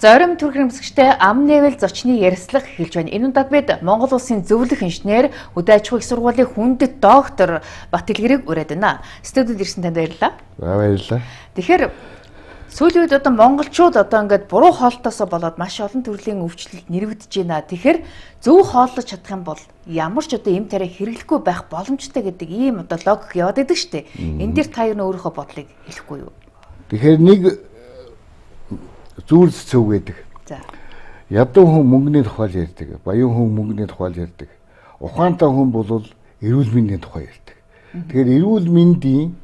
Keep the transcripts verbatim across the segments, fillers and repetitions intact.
Зорим Түрк хэмсэгчтэй ам нээвэл зочны ярилцлага эхэлж байна. Энэ удаад бид Монгол Улсын зөвлөх инженер, Хөдөө аж ахуйн их сургуулийн хүндэт доктор Бат Илгэрийг ураад байна. Студид ирсэн танд баярлалаа. Баярлалаа. Тэгэхээр сүүлийн үед одоо монголчууд одоо ингээд буруу хоолтосоо болоод маш олон төрлийн өвчлөлд нэрвэгдэж байна. Тэгэхээр зөв хооллож чадах юм бол ямар ч одоо эм тариа хэрэглэхгүй байх боломжтой гэдэг ийм одоо логик яваад идэг штеп. Энэ дээр та юу нэ өөрийнхөө бодлыг хэлэхгүй юу? Тэгэхээр нэг зүйлс зөв гэдэг. За. Ядуу хүн мөнгөний тухай ярьдаг, баян хүн мөнгөний тухай ярьдаг. Ухаантай хүн бол эрүүл мэндийн тухай ярьдаг. Тэгэхээр эрүүл мэндийн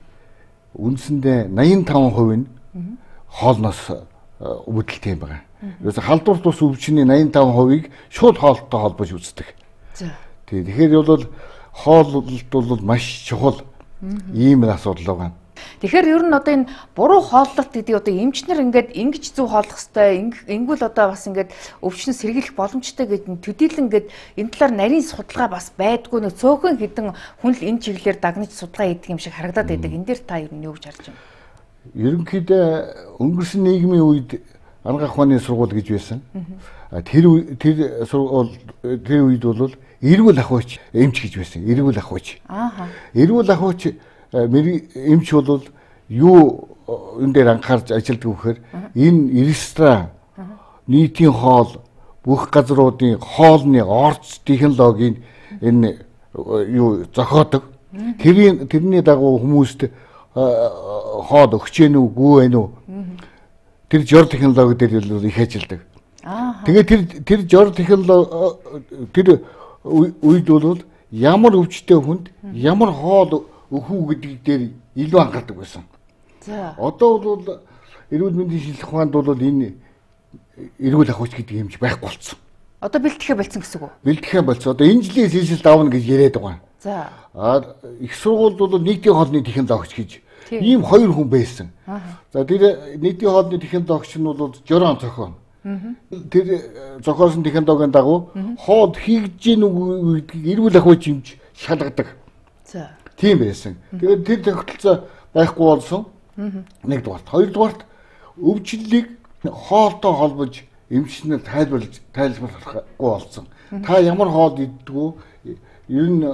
үндсэндээ найман таван хувь нь хоолноос үүдэлтэй юм байна. Ерөөсө халдвар тус өвчний найман таван хувийг шууд хоолтой холбож үздэг. За. Тэгэхээр бол хооллолт бол маш чухал ийм асуудал байна. Тэгэхээр ер нь одоо энэ буруу хооллолт гэдэг одоо эмчнэр ингээд ингэж зөв хооллох хэвээр ингүүл одоо бас ингээд өвчнө сэргийлэх боломжтой гэдэг нь төдийлөн ингээд энэ талаар нарийн судалгаа бас байдгүй нөө цөөхөн хідэн хүн л энэ чиглэлээр дагнаж судалгаа хийдэг юм шиг харагдаад байдаг. Энэ дээр та ер нь юу гэж харж байна? Ерөнхийдөө өнгөрсөн нийгмийн үед анх ахуйны сургууль гэж байсан. Тэр тэр сургууль тэр үед бол эрүүл ахуйч эмч гэж байсан. Эрүүл ахуйч. Аа. Эрүүл ахуйч эмч бол юу энэ дээр анхаарч ажилладаг вэхээр энэ ресторан нийтийн хоол бүх газруудын хоолны орц технологийн энэ юу зохиодог. Тэрийн тэрний дагуу хүмүүст хоол өгч гэнэ үгүй байна уу? Тэр жор технологи дээр их ажилладаг. Тэгээд тэр тэр жор технологи тэр үед бол ямар өвчтэй хүнд ямар хоол өхүү гэдэг дээр илүү анхаардаг байсан. За. Одоо бол эрүүл мэндийн шинжилгээ ухаанд бол энэ эрүүл ахуйч гэдэг юмч байхгүй болсон. Одоо бэлтгэхэ болсон гэсэн үг үү? Бэлтгэхэ болсон. Одоо энэ жилийн сэлсэл давна гэж яриад байгаа. За. А их сургуульд бол нийтийн хоолны технологич гэж ийм хоёр хүн байсан. За тэр нийтийн хоолны технологич нь бол жорон зохион. Тэр зохиосон технологийн дагуу хоол хийж гин үгүй гэдгийг эрүүл ахуйч юмч шалгадаг. За. Тийм байсан. Тэгээд тэр тогтолцоо байхгүй болсон. Нэгдүгээрт, хоёрдугаарт өвчлөлийг хоолтой холбож эмчнэр тайлбарлаж тайлбарлахгүй болсон. Та ямар хоол иддэг вэ? Ер нь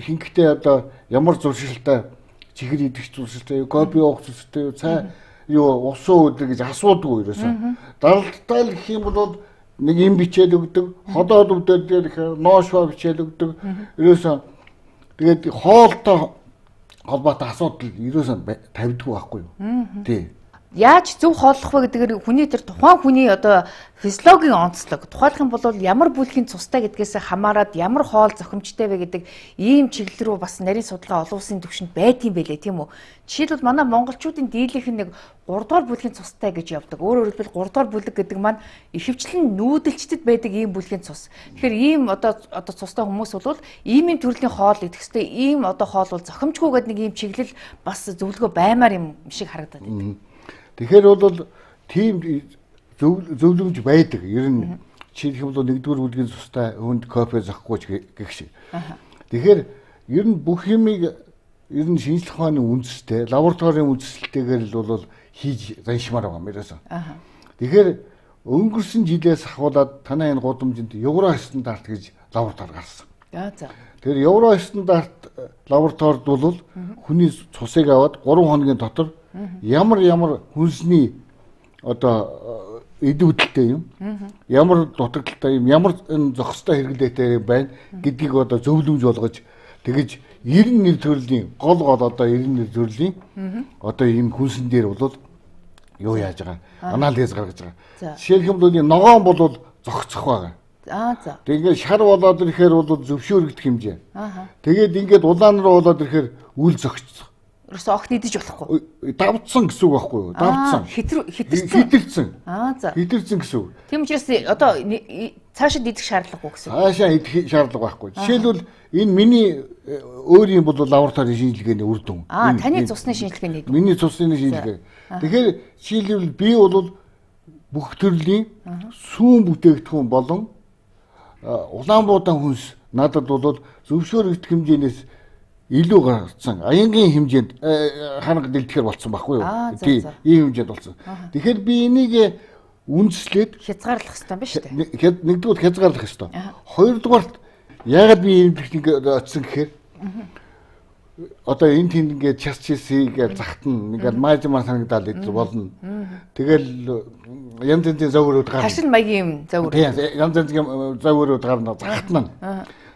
ихэнхдээ одоо ямар зуршилтай чихэр идэх зуршилтай, кофе уух зуршилтай, цай юу усуу өдөр гэж асуудаг ерөөсөө. Даралттай л гэх юм бол нэг юм бичээд өгдөг, ходоод өвдөр дээр ноошва бичээд өгдөг. Ерөөсөө тэгээд хоолтой холбоотой асуудал ерөөсөө тавьдгүй байхгүй юу? Тий. Яаж зөв хооллох вэ гэдгээр хүний тэр тухайн хүний одоо физиологийн онцлог тухайлах юм бол ямар бүлгийн цустай гэдгээс хамаарат ямар хоол зохимжтой вэ гэдэг ийм чиглэл рүү бас нарийн судалгаа олон улсын түвшинд байдсан байлээ тийм үү? Жишээлбэл манай монголчуудын дийлийнх нь нэг гурав дугаар бүлгийн цустай гэж явдаг. Өөрөөр хэлбэл гурав дугаар бүлэг гэдэг маань ихэвчлэн нүүдэлчдэд байдаг ийм бүлгийн цус. Тэгэхээр ийм одоо одоо цустай хүмүүс бол ийм ийм төрлийн хоол идэх хэвээр ийм одоо хоол бол зохимжгүй гэдэг нэг ийм чиглэл бас зөвлөгөө баймаар юм шиг харагдаад байдаг. Тэгэхээр бол тийм зөвлөмж байдаг. Ер нь жишээлх юм бол нэгдүгээр бүлгийн цустай хүнд кофе зохихгүй гэх шиг. Тэгэхээр ер нь бүх юмыг ер нь шинжлэх ухааны үндэстэй, лабораторийн үндэслэлтэйгээр л бол хийж заншмаар байгаа юм ерөөсөн. Тэгэхээр өнгөрсөн жилээс ахуулаад танай энэ гудамжинд евро стандарт гэж лаборатори гарсан. За. Тэгэхээр евро стандарт лабораторид бол хүний цусыг аваад гурван хоногийн дотор ямар ямар хүнсний одоо идэвхтэй юм, ямар дутагдaltaй юм, ямар зохистой хэрэглээтэй байна гэдгийг одоо зөвлөмж болгож тэгэж эрдэнэ нэр төрлийн гол гол одоо эрдэнэ нэр төрлийн одоо ийм хүнсэн дээр бол юу яаж байгаа анализ гаргаж байгаа. Жишээлх юм бол ногоон бол зогцох байгаа. Аа за. Тэгээд шар болоод ирэхээр бол зөвшөөрөгдөх хэмжээ. Тэгээд ингээд улаан руу болоод ирэхээр үл зогцох. Ерөөсөө огт идэж болохгүй. Давцсан гэсэн үг байхгүй юу? Давцсан. Хитэрсэн. Хитэрсэн. Аа за. Хитэрсэн гэсэн үг. Тийм учраас одоо цаашаа идэх шаардлагагүй гэсэн. Цаашаа идэх шаардлага байхгүй. Жишээлбэл энэ миний өөрийн бол лабораторийн шинжилгээний үр дүн. Аа таны цусны шинжилгээний. Миний цусны шинжилгээ. Тэгэхээр жишээлбэл би бол бүх төрлийн сүүн бүтээгдэхүүн болон Улаанбуудан хүнс надад бол зөвшөөрөгдөх хэмжээнээс илүү гарсан. Аянгийн хэмжээнд ханаг дэлтгэр болсон байхгүй юу? Тийм, ийм хэмжээнд болсон. Тэгэхээр би энийг үндэслээд хязгаарлах хэрэгтэй байна шүү дээ. Нэгдүгээр хязгаарлах хэрэгтэй. Хоёрдугаар яагаад би ийм техник очсон гэхээр одоо энэ тийм ингээд час чисийг захтана ингээд маажмаар санагдаад идэл болно. Тэгэл янз янзын зоврууд гарна. Хашин маягийн зовр. Тийм янз янзын зоврууд гарна захтана.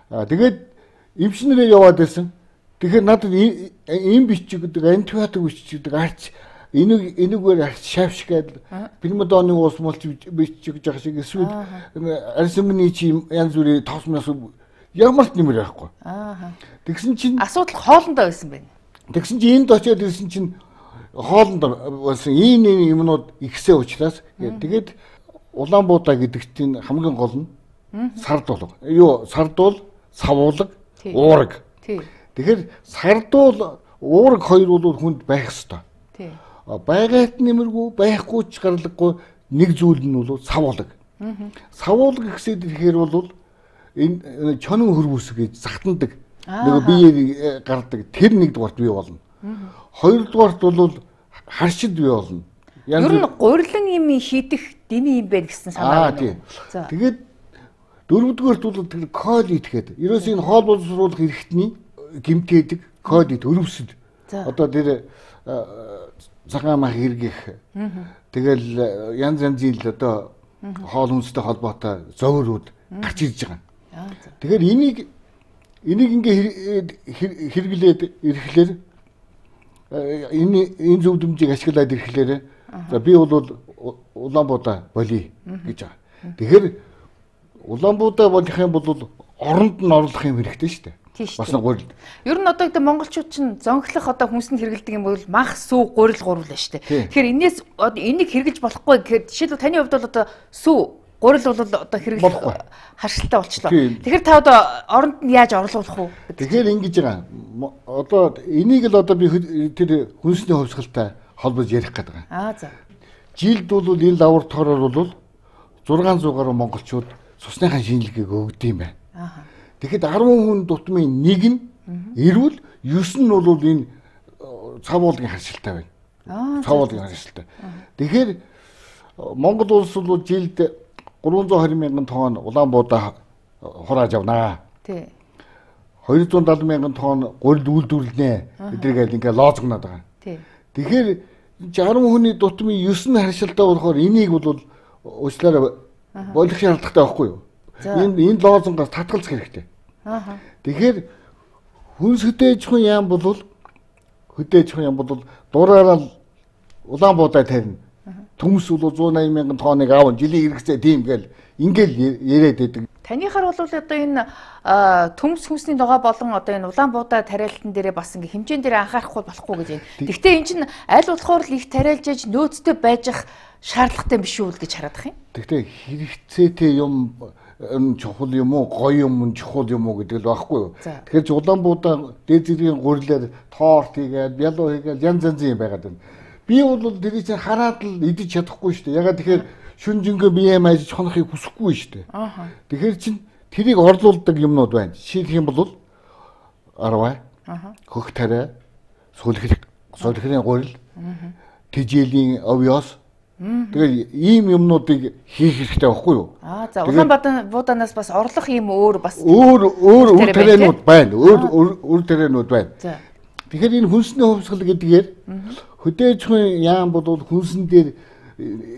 Аа тэгээд эмчнэрээ яваад байсан. Тэгэхээр надад ийм бичиг гэдэг антибиотик бичиг гэдэг арч энийг энийгээр арч шавшгаад пневмодоны уус молч бичиг жах шиг эсвэл арсемны чи янз бүрийн тоосмоос ямар ч нэмэр байхгүй. Аа. Тэгсэн чинь асуудал хоолндоо байсан байна. Тэгсэн чинь энд очиод ирсэн чинь хоолнд болсон ийм ийм юмнууд ихсээ учраас тэгээд Улаанбуудаа гэдэг чинь хамгийн гол нь сардуул. Юу сардуул, савуулга, уураг. Тэгэхээр сардуул, уураг хоёр бол хүнд байх ёстой. Тий. Байгaalт нэмэргүй, байхгүй ч гарлаггүй нэг зүйл нь бол савуулга. Савуулга гэхсээд ихээр бол энэ чонон хөрвөс гэж захтандаг. Нэг биеэр гардаг. Тэр нэгдүгээрт бий болно. Хоёрдугаарт бол харшид бий болно. Ер нь гурилан юм хийдэх дими юм байна гэсэн санаа байна. За. Тэгээд дөрөвдүгээрт бол тэр колит гэдэг. Ерөөс энэ хоол боловсруулах эрхтний гимтээдэг колит өрөвсөд. Одоо тэр цагаан мах хэрэгэх. Тэгэл янз янзын л одоо хоол хүнстэй холбоотой зоврууд гарч ирж байгаа. Тэгэхээр энийг энийг ингээ хэрэглээд ирэхлээр энэ энэ зөв дэмжийг ашиглаад ирэхлээр за би бол Улаанбуудаа болъё гэж байгаа. Тэгэхээр Улаанбуудаа болох юм бол оронд нь орлох юм хэрэгтэй шүү дээ. Бас нэг гурил. Ер нь одоо гэдэг монголчууд чинь зонхлох одоо хүнсэнд хэрэгэлдэг юм бол мах, сүү, гурил гурвал байна шүү дээ. Тэгэхээр энэс энийг хэрэглэж болохгүй гэхээр жишээлбэл таны хувьд бол одоо сүү гурил бол одоо хэрэглэх харшилтай болчлоо. Тэгэхээр та одоо оронд нь яаж орлуулах уу? Тэгэхээр ингэж байгаа. Одоо энийг л одоо би тэр хүнсний хувьсгалтай холбож ярих гэдэг байгаа. Аа за. Жилд бол энэ лабораториор бол зургаан зуун гаруй монголчууд цусныхаа шинжилгээг өгд юм байна. Аа. Тэгэхэд арван хүн дутмын нэг нь эрүүл, ёс нь бол энэ цавуулгын харшилтай байна. Аа. Цавуулгын харшилтай. Тэгэхээр Монгол улс бол жилд гурван зуун хорин мянган тонн Улаанбуудаа хурааж авнаа. Тий. хоёр зуун далай мянган тонн гурил үйлдвэрлэнэ. Эдрийг ингээ лоозгоноод байгаа. Тий. Тэгэхээр арван хүний дутмын ёс нь харшилтай болохоор энийг бол уучлаарай болох шаардлагатай байхгүй юу? Энэ энэ лоозонгоос татгалзах хэрэгтэй. Аа. Тэгэхээр хүнс хөдөөж хүн яам бол хөдөөж хүн яам бол дураараа Улаанбуудаа тарина. Төмс бол зуун восемь мянган тонныг аав жилийн хэрэгцээ тийм гээл ингээл яриад байдаг. Танийхаар бол одоо энэ төмс хүнсний ногоо болон одоо энэ Улаанбуудаа тариалтан дээрээ бас ингээ хэмжээнд дээр анхаарахгүй болохгүй гэж байна. Гэхдээ эн чинь аль болохоор л их тариалж ээж нөөцтэй байж ах шаардлагатай биш үү гэж хараад ах юм. Гэхдээ хэрэгцээтэй юм чухал юм уу, гоё юм, чухал юм уу гэдэг л байхгүй юу. Тэгэхээр ч Улаанбуудаа дээд зэргийн гурилаар торт хийгээд, бялуу хийгээд янз янзын юм байгаад байна. Би бол тэрийг чинь хараад л идэж чадахгүй шүү дээ. Ягаад тэгэхээр шүн жингээ бие маяж хонохыг хүсэхгүй шүү дээ. Аа. Тэгэхээр чинь тэрийг орлуулдаг юмнууд байна. Жишээлх юм бол арваа, хөх тариа, сүлхэр, сүлхрийн гурил, тэжээлийн овёс. Тэгээд ийм юмнуудыг хийх хэрэгтэй байхгүй юу? Аа за Улаанбуудаанаас бас орлох юм өөр бас өөр өөр үр тарианууд байна. Өөр үр тарианууд байна. За. Тэгэхээр энэ хүнсний хувьсгал гэдгээр хөдөөж хүн яам бол хүнсэн дээр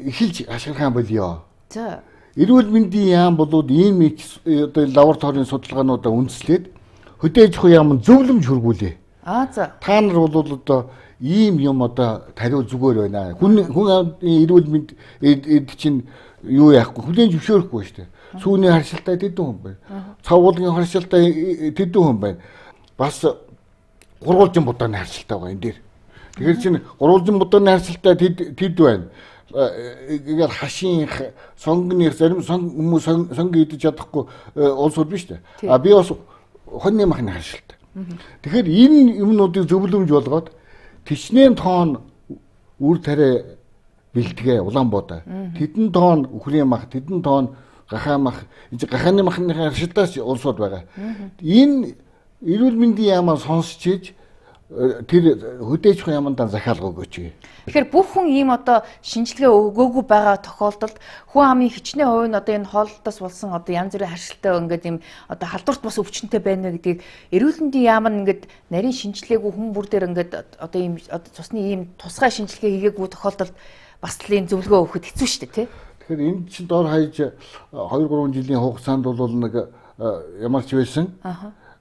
эхэлж ашиглах юм болёо. За. Эрүүл мэндийн яам бол ийм одоо лабораторийн судалгаануудаа үндэслээд хөдөөж хүн яам зөвлөмж хөргүүлээ. Аа за. Та нар бол одоо ийм юм одоо тариу зүгээр байна. Хүн хүн эрүүл мэнд чинь юу яахгүй хүлээн зөвшөөрөхгүй шүү дээ. Сүүний харшилтай тэдэн хүн байна. Цавуулгын харшилтай тэдэн хүн байна. Бас гурвалжин будааны харшилтай байгаа энэ дээр. Тэгэхээр чинь гурвалжин будааны харшилтай тэд тэд байна. Ингээл хашийн сонгоны зарим хүмүүс сонго идэж чадахгүй улсууд биш үү? А би бас хоньны махны харшилтай. Тэгэхээр энэ юмнуудыг зөвлөмж болгоод тэчнээн тоон үр тариа бэлтгээ Улаанбуудаа. Тэдэн тоон үхрийн мах, тэдэн тоон гахаа мах, энэ гахааны махны харшилтаас улсууд байгаа. Энэ эрүүл мэндийн яамаа сонсч ийж тэр хөдөөж ямандаа захиалга өгөөч. Тэгэхээр бүх хүн ийм одоо шинжилгээ өгөөгүй байгаа тохиолдолд хүн амын хичнээн хувь нь одоо энэ хооллолтоос болсон одоо янз бүрийн харшилтай ингээд ийм одоо халдварт бас өвчнөтэй байна гэдгийг эрүүл мэндийн яам нь ингээд нарийн шинжилгээгүй хүн бүр дээр ингээд одоо ийм одоо цусны ийм тусгай шинжилгээ хийгээгүй тохиолдолд бас л ийм зөвлөгөө өгөхөд хэцүү шүү дээ тий. Тэгэхээр энэ чинь доор хаяж хоёр гурван жилийн хугацаанд бол нэг ямар ч байсан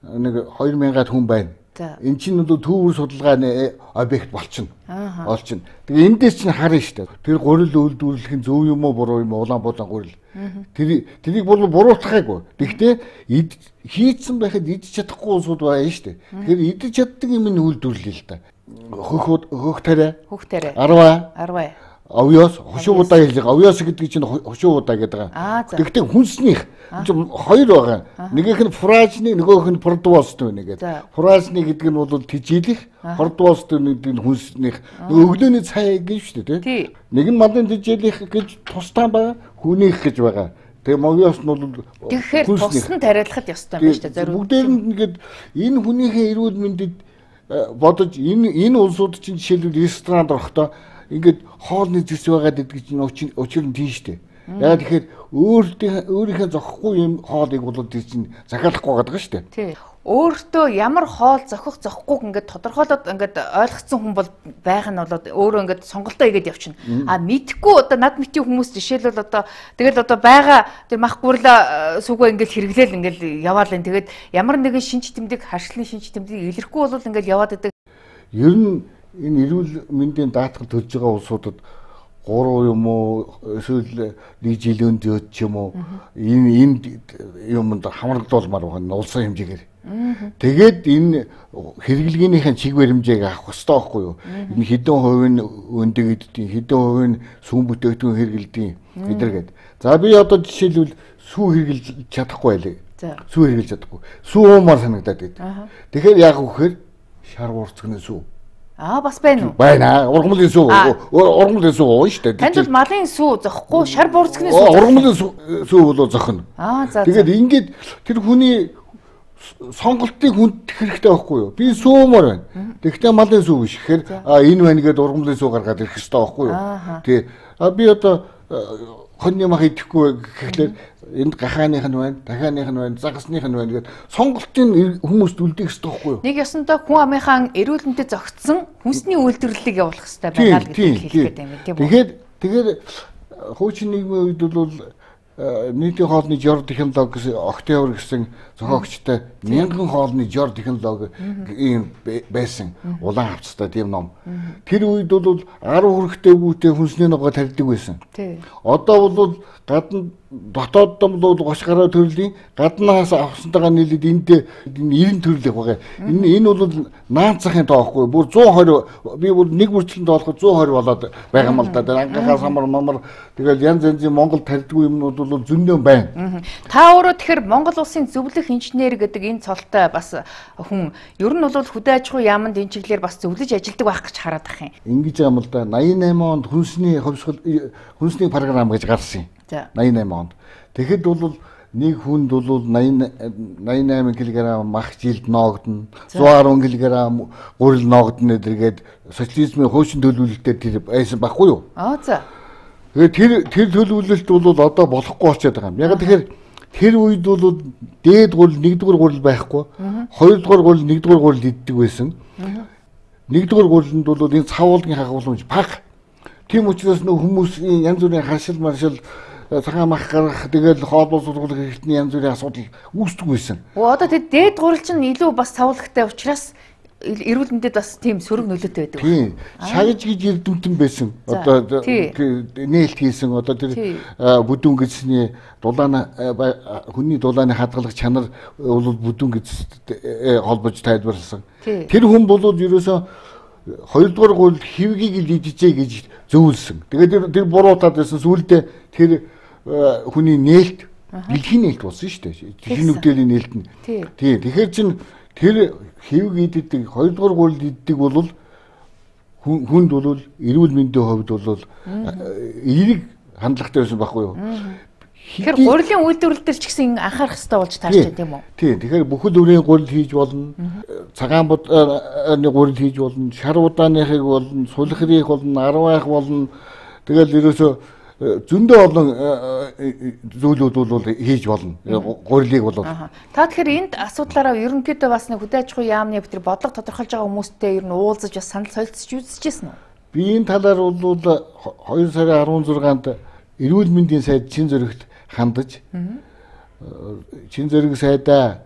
нэг хоёр мянган хүн байна. Эн чинь бол төвөр судалгааны объект болчихно. Олчихно. Тэгээ эндээс чинь харна шүү дээ. Тэр гурил үйлдвэрлэх нь зөв юм уу буруу юм уу улаан булан гурил. Тэр тэрийг бол буруутгахаагүй. Гэхдээ хийцэн байхад идэж чадахгүй улсууд байна шүү дээ. Тэгэхээр идэж чаддаг юм нь үйлдвэрлэе л да. Хөх хөх тарай. Хөх тарай. Арваа. Арваа. Овёс хошуу удаа хэлээ. Овёс гэдэг чинь хошуу удаа гэдэг байгаа. Гэхдээ хүнснийх хоёр байгаа. Нэгийнх нь фразны, нөгөөх нь продвост байна гэдэг. Фразны гэдэг нь бол тижээлэх, продвост гэдэг нь хүнснийх. Өглөөний цай гэж шүү дээ, тийм. Нэг нь мандын тижээлэх гэж тустай байгаа, хүнийх гэж байгаа. Тэгээ овёс нь бол тэгэхээр тусн тариалахад ёстой юм байна шүү дээ. Зориуд. Бүгдээр нь ингээд энэ хүнийхээ эрүүл мэндэд бодож энэ энэ улсууд чинь жишээлбэл ресторанд орохдоо ингээд хоолны зүс байгаад идэх чинь учир нь тийм шүү дээ. Яагаад тэгэхээр өөртөө өөрийнхөө зохихгүй юм хоолыг бол тийм чинь захиалахгүй байгаа шүү дээ. Тий. Өөртөө ямар хоол зохих зохихгүйг ингээд тодорхойлоод ингээд ойлгоцсон хүн бол байх нь болоод өөрөө ингээд сонголтоо хийгээд явчихна. А мэдхгүй одоо над мэтийн хүмүүс жишээлбэл одоо тэгэл одоо байгаа тэр мах гурла сүгөө ингээд хэрэглээл ингээд яваал энэ тэгээд ямар нэгэн шинж тэмдэг харшлын шинж тэмдэг илэрхгүй бол ингээд яваад идэг. Ер нь энэ эрүүл мэндийн даатгал төлж байгаа улсуудад гурав юм уу эсвэл нэг жилийн дөд ч юм уу энэ энэ юмд хамрагдуулмаар байгаа улсын хэмжээгээр. Тэгээд энэ хэрэглэгээнийхэн чиг баримжааг авах хэрэгтэй байхгүй юу? Энэ хэдэн хувийн өндөг иддэг, хэдэн хувийн сүм бүтээгдэхүүн хэрэглэдэг гэдэргээд. За би одоо жишээлбэл сүү хэрэглэж чадахгүй байлээ. Сүү хэрэглэж чадахгүй. Сүү уумаар санагдаад байдаг. Тэгэхээр яг үхээр шар урцгны сүү. Аа бас байна уу? Байна. Ургамлын сүү. Ургамлын сүү уу шүү дээ. Танд бол малын сүү зохгүй, шар бурцгны сүү. Ургамлын сүү бол зохино. Аа за. Тэгээд ингээд тэр хүний сонголтыг хүндэх хэрэгтэй байхгүй юу? Би сүүмөр байна. Тэгвэл малын сүү биш. Тэгэхээр а энэ байна гэдээ ургамлын сүү гаргаад ирэх хэрэгтэй байхгүй юу? Тий. А би одоо хоньны мах идэхгүй гэхлээр энд гахааных нь байна, дахианых нь байна, загасных нь байна гэдэг сонголтын хүмүүст үлдээх хэрэгтэй байхгүй юу? Нэг ёсонтой хүн амынхаа эрүүл мэндэд зохицсон хүнсний үйлдвэрлэлийг явуулах хэрэгтэй байна л гэж хэлэх гээд юм тийм үү? Тэгэхээр тэгэхээр хуучин нийгмийн үед бол нийтийн хоолны жор технологи гэсэн Октябрь гэсэн зохиогчтой мянган хоолны жор технологи ийм байсан улаан хавцтай тийм ном. Тэр үед бол арав хүрэхтэй бүтээн хүнсний ногоо тарьдаг байсан. Одоо бол гадна дотоод бол гош гараа төрлийн гаднаас авсантайгаа нийлээд энд нэрэн төрлөх байгаа. Энэ энэ бол наанцахын тоохгүй. Бүр зуун хорь би бүр нэг бүрчлэн тоолоход зуун хорь болоод байгаа юм л да. Ангахаа самар мамар тэгэл янз янзын Монгол тарьдгүй юмнууд бол зөндөө байна. Та өөрөө тэгэхээр Монгол улсын зөвлөх инженер гэдэг энэ цолтой бас хүн ер нь бол хөдөө аж ахуйн яамд энэ чиглэлээр бас зөвлөж ажилдаг байх гэж хараад ах юм. Ингэж юм л да. найман восемь онд хүнсний ховсгол хүнсний програм гэж гарсан юм. найман восемь онд. Тэгэхэд бол нэг хүнд бол восемь кг мах жилд ноогдно, one hundred ten кг гурил ноогдно гэдэргээд социализмын хуучин төлөвлөлтөөр тэр байсан байхгүй юу? Аа за. Тэгээд тэр тэр төлөвлөлт бол одоо болохгүй болчиход байгаа юм. Яг тэгэхээр тэр үед бол дээд гурил, нэгдүгээр гурил байхгүй, хоёрдугаар гурил, нэгдүгээр гурил иддэг байсан. Нэгдүгээр гурилд бол энэ цавуулгын хагууламж бага. Тийм учраас нөх хүмүүсийн янз бүрийн харшил маршил цагаан мах гарах тэгэл хоол боловсруулах хэрэгтний янз бүрийн асуудал үүсдэг байсан. Оо одоо тэр дээд гурил чинь илүү бас цавуулгатай учраас эрүүл мэндэд бас тийм сөрөг нөлөөтэй байдаг. Тийм. Шагж гэж эрдэмтэн байсан. Одоо нээлт хийсэн одоо тэр бүдүүн гэсний дулааны хүний дулааны хадгалах чанар бол бүдүүн гэж холбож тайлбарласан. Тэр хүн бол ерөөсөө хоёрдугаар гурил хивгийг л идчихээ гэж зөвлөсөн. Тэгээд тэр буруутаад байсан сүулдэ тэр хүний нээлт дэлхийн нээлт болсон шүү дээ. Дэлхийн нүгдээлийн нээлт нь. Тийм. Тэгэхээр чин тэр хивг иддэг хоёрдугаар гурил иддэг бол хүнд бол эрүүл мэндийн хувьд бол эерэг хандлагатай байсан байхгүй юу? Тэгэхээр гурилын үйлдвэрлэл дээр ч гэсэн анхаарах хэрэгтэй болж тааштай тийм үү? Тийм. Тэгэхээр бүхэл өрийн гурил хийж болно. Цагаан будны гурил хийж болно. Шар удааныхыг болно, сулхирих болно, арвайх болно. Тэгэл ерөөсөө зөндөө олон зүйлүүд бол хийж болно. Гурилыг бол. Та тэгэхээр энд асуудлаараа ерөнхийдөө бас нэг хөдөө аж ахуйн яамны битэр бодлого тодорхойлж байгаа хүмүүстэй ер нь уулзаж бас санал солилцож үзчихсэн үү? Би энэ талаар бол хоёр сарын арван зургаанд эрүүл мэндийн сайд Чин Зөрөгт хандаж Чин Зөрөг сайдаа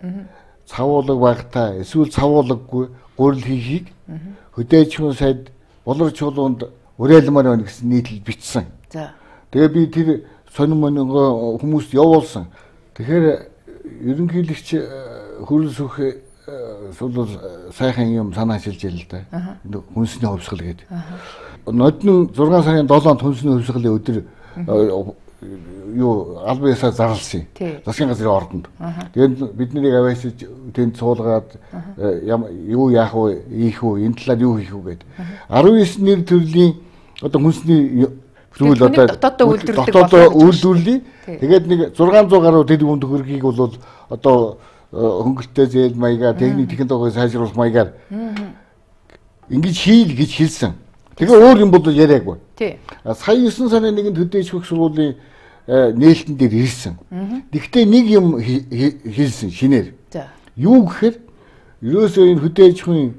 цавуулаг багтаа эсвэл цавуулаггүй гурил хийхийг хөдөө аж ахуйн сайд болор чуулганд уриалмаар байна гэсэн нийтлэл бичсэн. За. Тэгээ би тэр сонин монингоо хүмүүст явуулсан. Тэгэхээр ерөнхийлөгч хөрөл сүх сул сайхан юм санаачилж ял л да. Хүнсний хувьсгал гэдэг. Нодны зургаан сарын долоонд хүнсний хувьсгалын өдөр юу албан ёсоор зарласан. Засгийн газрын ордонд. Тэгээд бид нарыг аваачиж тэнд суулгаад юу яах вэ, ийх вэ, энэ талаар юу хийх вэ гэдэг. арван девять нэр төрлийн одоо хүнсний зүйл одоо дотоодоо үйлдвэрлэе. Тэгээд нэг зургаан зуун гаруй тэрбум төгрөгийг бол одоо хөнгөлтэй зээл маягаар техник технологи сайжруулах маягаар ингэж хийл гэж хэлсэн. Тэгээ өөр юм бол яриаггүй. Тий. Сая девять сарын нэгэн төдөө иж хөх сургуулийн нээлтэн дээр ирсэн. Гэхдээ нэг юм хэлсэн шинээр. За. Юу гэхээр ерөөсөө энэ хөдөө аж ахуйн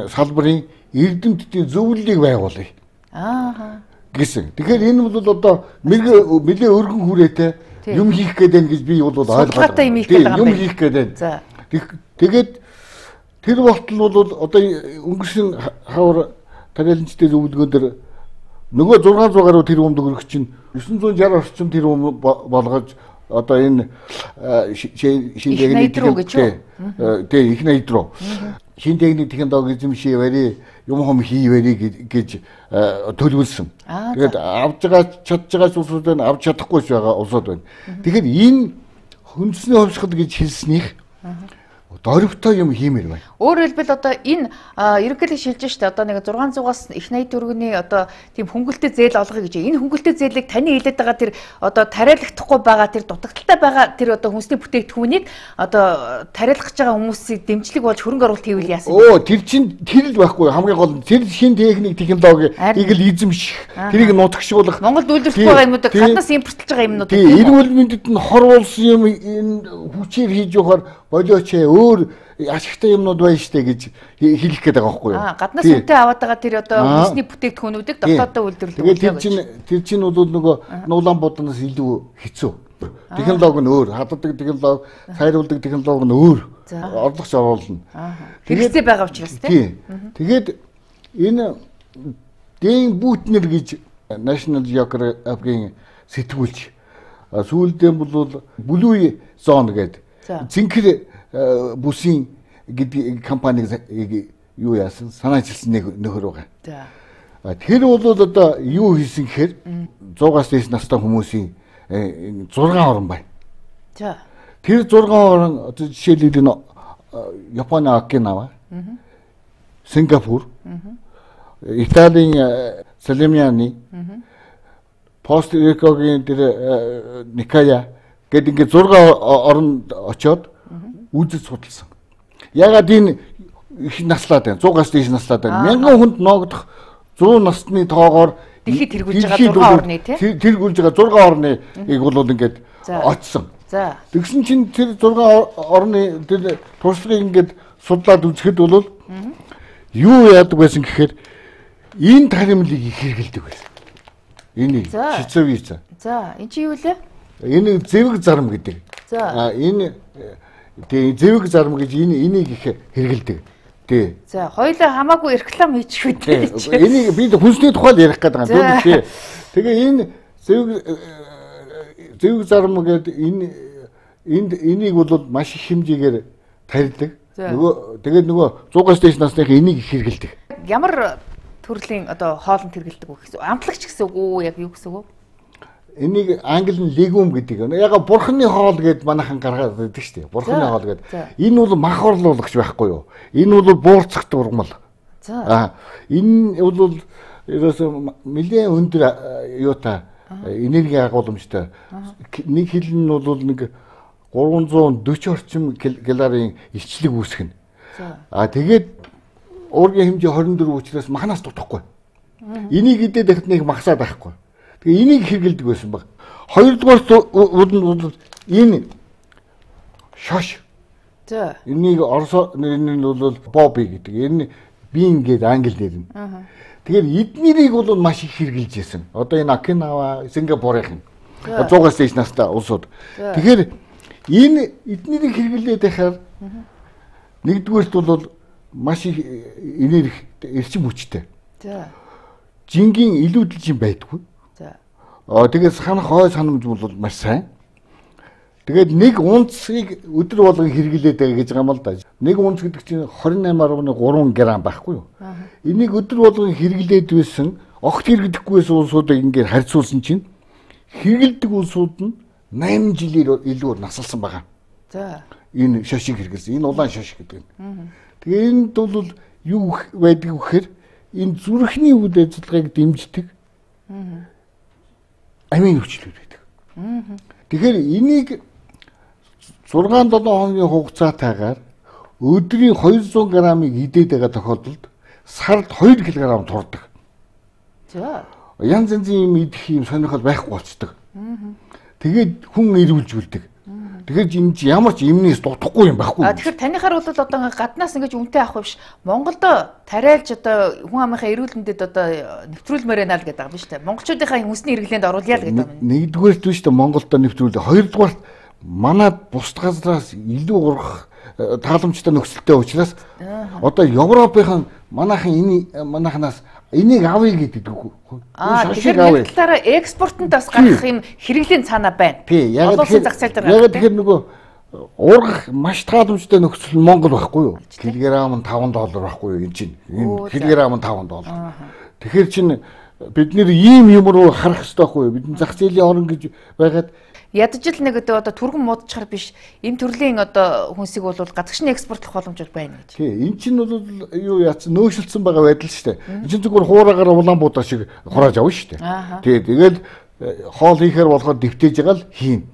салбарын эрдэмтдийн зөвлөлийг байгуулъя. Аа. Гэсэн. Тэгэхээр энэ бол одоо нэлээ өргөн хүрээтэй юм хийх гэдэг гэж би бол ойлгоод байна. Юм хийх гэдэг. За. Тэгээд тэр болтол бол одоо өнгөрсөн хавар тариаланчдын зөвлөгөөн дээр нөгөө зургаан зуун гаруй тэрбум төгрөг чинь девять шestic орчим тэрбум болгож одоо энэ шин техник тий их найд руу шин техник технологи эзэмшээ барь юм хом хийвэрий гэж төлөвлөсөн. Тэгээд авж байгаа чадж байгаа улсууд байна, авч чадахгүй байгаа улсууд байна. Тэгэхээр энэ хүнсний хувьсгал гэж хэлснийх дөрвтэй юм хиймээр байна. Өөрөөр хэлбэл одоо энэ ерөнхийдөө шилжиж штэ одоо нэг зургаан зугаас их найд төгрөгийн одоо тийм хөнгөлтэй зээл олгоё гэж. Энэ хөнгөлтэй зээлийг таны хэлээд байгаа тэр одоо тариалагдахгүй байгаа тэр дутагдaltaй байгаа тэр одоо хүнсний бүтээгдэхүүнийг одоо тариалгах гэж байгаа хүмүүсийг дэмжлэг болж хөрөнгө оруулалт хийвэл яасан бэ? Оо тэр чинь тэр л байхгүй хамгийн гол нь тэр шин техник технологи ийг л эзэмших тэрийг нутагшуулах Монголд үйлдвэрлэх байгаа юмнуудыг гаднаас импортлж байгаа юмнууд тийм эрүүл мэндэд нь хорвуулсан юм энэ хүчээр хийж явахаар болооч өөр ашигтай юмнууд байна штэ гэж хэлэх гээд байгаа байхгүй юу? Аа гаднаас үнэтэй аваад байгаа тэр одоо хүнсний бүтээгдэхүүнүүдийг дотоодоо үйлдвэрлэх. Тэгээд тэр чинь тэр чинь бол нөгөө нуулан бодноос илүү хэцүү. Технологи нь өөр, хаддаг технологи, сайруулдаг технологи нь өөр. Орлогч оруулна. Хэрэгцээ байгаа учраас тийм. Тэгээд энэ дээн бүтнэр гэж National Geographic-ийн сэтгүүлч сүүлдээ бол Blue Zone гэдэг зинхэр бүсийн гэдэг компаниг юу яасан санаачилсан нэг нөхөр байгаа. За. Тэр бол одоо юу хийсэн гэхээр сто-аас дээш настай хүмүүсийн зургаан орон байна. За. Тэр зургаан орон одоо жишээлбэл энэ Японы Окинава, Сингапур, Италийн Салемианы, Пост-Рикогийн тэр Никая гэдэг ингээд зургаан оронд очоод үзэж судалсан. Ягаад энэ их наслаад байна. сто-аас дээш наслаад байна. Мянган хүнд ноогдох сто насны тоогоор дэлхийд тэргүүлж байгаа зургаан орны тий. Тэргүүлж байгаа зургаан орныг бол ингээд очсон. За. Тэгсэн чинь тэр зургаан орны тэр туршлагыг ингээд судлаад үзэхэд бол юу яадаг байсан гэхээр энэ таримлыг их хэрэгэлдэг байсан. Энийг шизовица. За, энэ чи юу лээ? Энэ зэвэг зарм гэдэг. За. Энэ тий зэвэг зарм гэж энэ энийг их хэрэгэлдэг. Тий. За, хоёулаа хамаагүй реклам хийчих үү. Энийг би хүнсний тухай л ярих гэдэг юм тий. Тэгээ энэ зэвэг зэвэг зарм гэдэг энэ энд энийг бол маш их хэмжээгээр тарьдаг. Нөгөө тэгээд нөгөө сто-аас дээш насных энийг их хэрэгэлдэг. Ямар төрлийн одоо хоолнд хэрэгэлдэг вэ гэсэн? Амтлагч гэсэн үг үү? Яг юу гэсэн үг вэ? Энийг англи нь легум гэдэг. Яг бурхны хоол гэдээ манайхан гаргаад байдаг шүү дээ. Бурхны хоол гэдэг. Энэ бол мах орлуулагч байхгүй юу? Энэ бол буурцах дургамал. За. Аа энэ бол ерөөсөө нэлээд өндөр юутай энерги агуулмжтай. Нэг хил нь бол нэг гурван зуун дөрвөн орчим калорийн илчлэг үүсгэнэ. А тэгээд уургийн хэмжээ хорин дөрөв учраас махнаас дутахгүй. Энийг идээд дахид нэг магасаад байхгүй. Тэгээ энийг хэрэгэлдэг байсан баг. Хоёрдугаар нь энэ шош. За. Энийг орсо нэрнээ бол боби гэдэг. Энэ бин гэдэг англи нэр нь. Тэгэхээр эднэрийг бол маш их хэрэгжилж байсан. Одоо энэ Окинава, Сингапурын зугаас дээш настай улсууд. Тэгэхээр энэ эднэрийг хэрэглээд байхаар нэгдүгээрт бол маш их энерги эрчим хүчтэй. За. Жингийн илүүдэлж юм байдгүй. За. Аа тэгээд санах хой санамж бол маш сайн. Тэгээд нэг унцыг өдөр болгон хэрэглээд байгаа гэж байгаа юм л да. Нэг унц гэдэг чинь двадцать восемь гаруй три грамм байхгүй юу? Энийг өдөр болгон хэрэглээд байсан, огт хэрэглэдэггүйсэн улсуудыг ингээд харьцуулсан чинь хэрэглэдэг улсууд нь восемь жилээр илүү насалсан байгаа. За. Энэ шошиг хэрэглэсэн. Энэ улаан шошиг гэдэг нь. Тэгээ энд бол юу байдаг вэ гэхээр энэ зүрхний үйл ажиллагааг дэмждэг амин хүчлүүд байдаг. Тэгэхээр энийг шесть семь хоногийн хугацаатайгаар өдрийн двести граммыг идээд байгаа тохиолдолд сард two килограмм турдаг. За. Янз янзын юм идэх юм сонирхол байхгүй болцдог. Тэгээд хүн ирүүлж үлдэг. Тэгэхээр энэ ч ямар ч юмнээс дутахгүй юм байхгүй. А тэгэхээр танихаар бол одоо гаднаас ингэж үнэтэй авах биш. Монголд тариалж одоо хүн амынхаа эрүүлэндэд одоо нэвтрүүлмээр байна л гэдэг юм биш үү? Монголчуудынхаа хүнсний хэрэглээнд оруулъя л гэдэг юм. Нэгдүгээрт биш үү Монголд нэвтрүүлээ. Хоёрдугаарт манад бус газраас илүү урах тааламжтай нөхцөлтэй учраас одоо Европынхан манайхан энэ манайханаас энийг авъя гэдэг үг. Аа тэгэхээр талаараа экспортод бас гарах юм хэрэглийн цаана байна. Олон улсын зах зээл дээр. Яг тэгэхээр нөгөө ургах маш тааламжтай нөхцөл Монгол байхгүй юу? Килограмм нь five доллар байхгүй юу энэ чинь. Энэ килограмм нь five доллар. Тэгэхээр чинь бид нэр ийм юм руу харах хэрэгтэй байхгүй юу? Бидний зах зээлийн орн гэж байгаад ядаж л нэг одоо түргэн муудчихар биш энэ төрлийн одоо хүнсийг бол гадагшны экспортлох боломжууд байна гэж. Тий, эн чинь бол юу яатсан нөөцлөсөн байгаа байдал шүү дээ. Энд чинь зүгээр хуураагаар улаан буудаа шиг хурааж авна шүү дээ. Тий, тэгэл хоол хийхээр болохоор дэвтээж байгаа л хийн.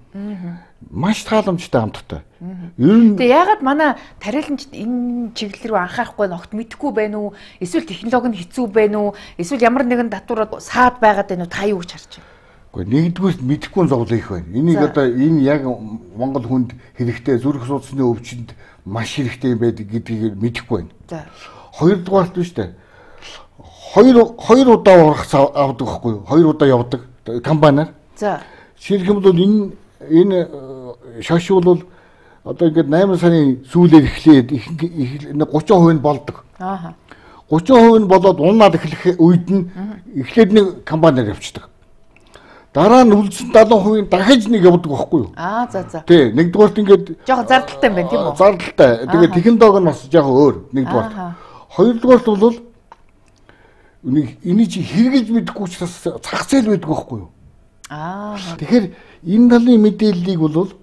Маш тааламжтай хамттай. Ер нь тэгээ ягаад манай тариаланчид энэ чиглэл рүү анхаарахгүй ногт мэдэхгүй байна уу? Эсвэл технологи нь хэцүү байна уу? Эсвэл ямар нэгэн татвар саад байгаад байна уу? Та юу гэж харж байна? Гэхдээ нэгдүгээрт мэдэхгүй зовлон их байна. Энийг одоо энэ яг Монгол хүнд хэрэгтэй зүрх судасны өвчнөд маш хэрэгтэй юм байдаг гэдгийг мэдэхгүй байна. За. Хоёрдугаарт биш үү? Хоёр хоёр удаа урах авдаг байхгүй юу? Хоёр удаа явдаг компаниар. За. Жишээлх юм бол энэ энэ шаш бол одоо ингээд eight сарын сүүлээр эхлээд thirty percent нь болдог. Ааха. thirty percent нь болоод унаад эхлэх үед нь эхлээд нэг компаниар явчихдаг. Дараа нь үлдсэн seventy percent дахиж нэг явдаг байхгүй юу? Аа за за. Тий, нэгдүгээрт ингээд жоохон зардалтай юм байна тийм үү? Зардалтай. Тэгээд технологи нь бас жоохон өөр нэгдүгээрт. Хоёрдугаарт бол энийг чи хэрэгжилж мэдэхгүй учраас зах зээл байдаг байхгүй юу? Аа. Тэгэхээр энэ талын мэдээллийг бол